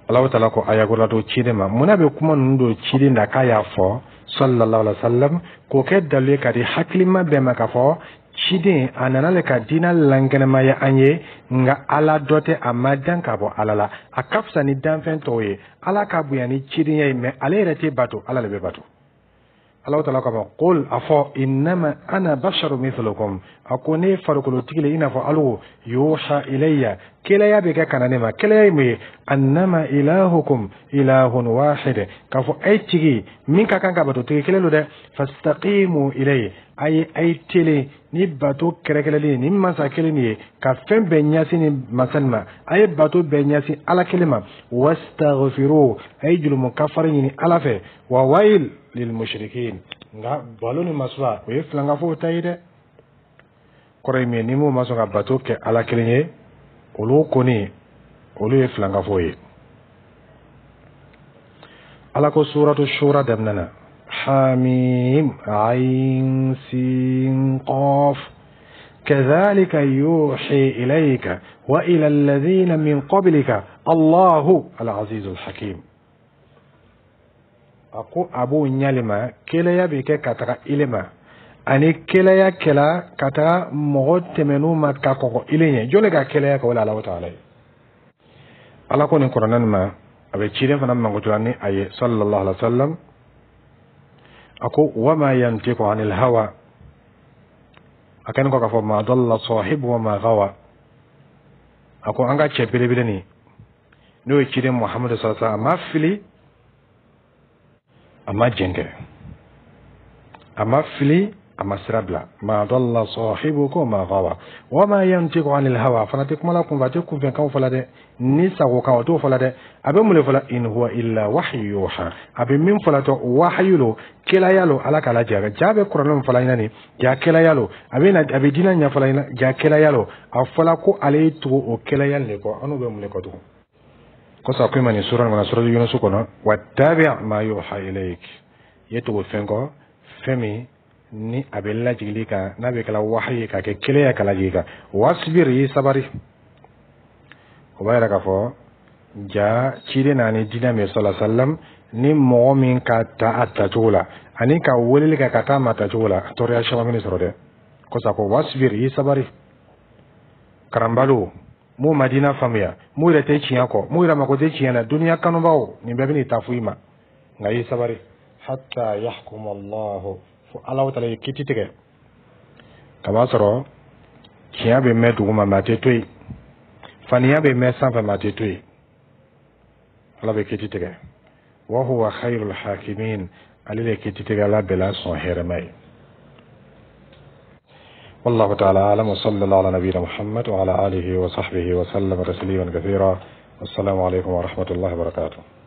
Alahu taala ko aya ko la don ciden ma. Munna bɛ kuma ninnu don ciden da k'a y'a fɔ sallallahu alaihi wa sallam, k'o kɛ dalu ye ka di hakilima bɛɛ ma k'a fɔ ciden a nana le ka diinɛ lankɛnɛmaya an ye? Nka Ala dɔ tɛ, a ma dan ka bɔ Ala la, a ka fisa ni danfɛn tɔw ye. Ala ka bonya ni cidenya ye, mɛ ale yɛrɛ tɛ bato, Ala de bɛ bato. Alahu taala k'a ma: qul, a fɔ, innama ana basharu mithlukum, a ko ne ye farikolotigi le i n'a fɔ alu, yuha ilayya, kelaya bɛ kɛ ka na ne ma. Kelaya ye mun ye? Annama ilahukum ilahun wahid, k'a fɔ a ye tigi min ka kan ka bato, tigi kelen don dɛ. Fastaqimu ilayhi, a ye a ye telen ni bato kɛrɛkɛrɛlen ni masa kelen de ye, ka fɛn bɛɛ ɲɛsin ni masa nin ma. A ye bato bɛɛ ɲɛsin Ala kelen ma. Wastaghfiru, a ye julumu kafari ɲini Ala fɛ. Wa wayil lil mushrikin, nka balo ni masuba, o ye filankafow ta ye dɛ. Kɔrɔ ye min ye, ni mun ma sɔn ka bato kɛ Ala kelen ye, olu kɔni, olu ye filankafow ye. Ala ko suratu Shura daminɛ na: hamim ayin sin qaf, كذلك يوحي إليك وإلى الذين من قبلك الله العزيز الحكيم. A ko a b'o ɲalima kelaya bɛ kɛ ka taga ile ma, ani kelaya kɛla ka taga mɔgɔ tɛmɛn'u ma ka kɔkɔ ile ɲɛ. Jɔn de ka kelaya kɛ? O la Alahu taala ye. Ala ko nin Kuranɛ nin ma, a bɛ ciden fana mankutuya ni a ye sallallahu alaihi wa sallam. A ko wama yantiqu anil hawa, a kɛlen kɔ k'a fɔ ma dalla sahibu wa ma gawa. A ko an ka cɛ belebele nin, n'o ye ciden Muhamadu sallallahu alaihi wa sallam, a ma fili, a ma jɛnkɛ, a ma fili, a ma sira bila. Ma dalla sahibukum ma gawa wa ma yantiqu anil hawa, fana tɛ kuma la kunfɛ, a tɛ kunfɛnkanw fɔla dɛ, ni sago kan o t'o fɔla dɛ. A bɛ mun de fɔla? In huwa illa wahyu yuha, a bɛ min fɔla tɔ, wahayu lo, kelaya lo. Ala k'a lajɛ, ja bɛ Kuranɛ min fɔla ɲɛna nin, ja kelaya lo. A bɛ na, a bɛ diinɛ ɲɛfɔla ɲɛna, ja kelaya lo. A fɔla ko ale ye tugu o kelaya nin de kɔ. An n'u bɛ mun de kɔ tugun? Kɔsa ko i ma nin sura nin kɔnɔ, sura Yunusu kɔnɔ: wattabi' ma yuha ilayk, i ye tugu fɛn kɔ, fɛn min ni a bɛ lajigili kan, n'a bɛ kɛla wahayi ye ka kɛ kelen ye ka lajigi kan. Wasbir, i sabari. O b'a yira k'a fɔ ja ciden na ni diinɛ min sɔlɔ sallam, ni mɔgɔ min ka ta a tacogo la ani ka weleli kɛ ka taa ma tacogo la, tɔɔrɔya caman bɛ sɔrɔ dɛ. Kɔsa ko wasbir, i sabari. Karanbaliw m'u ma diinɛ faamuya, m'u yɛrɛ tɛ tiɲɛ kɔ, m'u yɛrɛ mako tɛ tiɲɛ na, duniya kanubaw, nin bɛɛ bɛ n'i ta fo i ma. Nka i sabari, hatta yahkum Allahu, fo Ala taala ye kiti tigɛ. Kaba sɔrɔ tiɲɛ bɛ mɛn dugu ma, mɛ a tɛ to yen. Faniya bɛ mɛn sanfɛ, mɛ a tɛ to yen. Ala bɛ kiti tigɛ. Wa huwa khayrul hakimin, ale de kiti tigɛ ala bɛɛ la sɔn hɛrɛma ye. والله تعالى أعلم، وصلى الله على نبينا محمد وعلى آله وصحبه وسلم تسليما كثيرا، والسلام عليكم ورحمة الله وبركاته.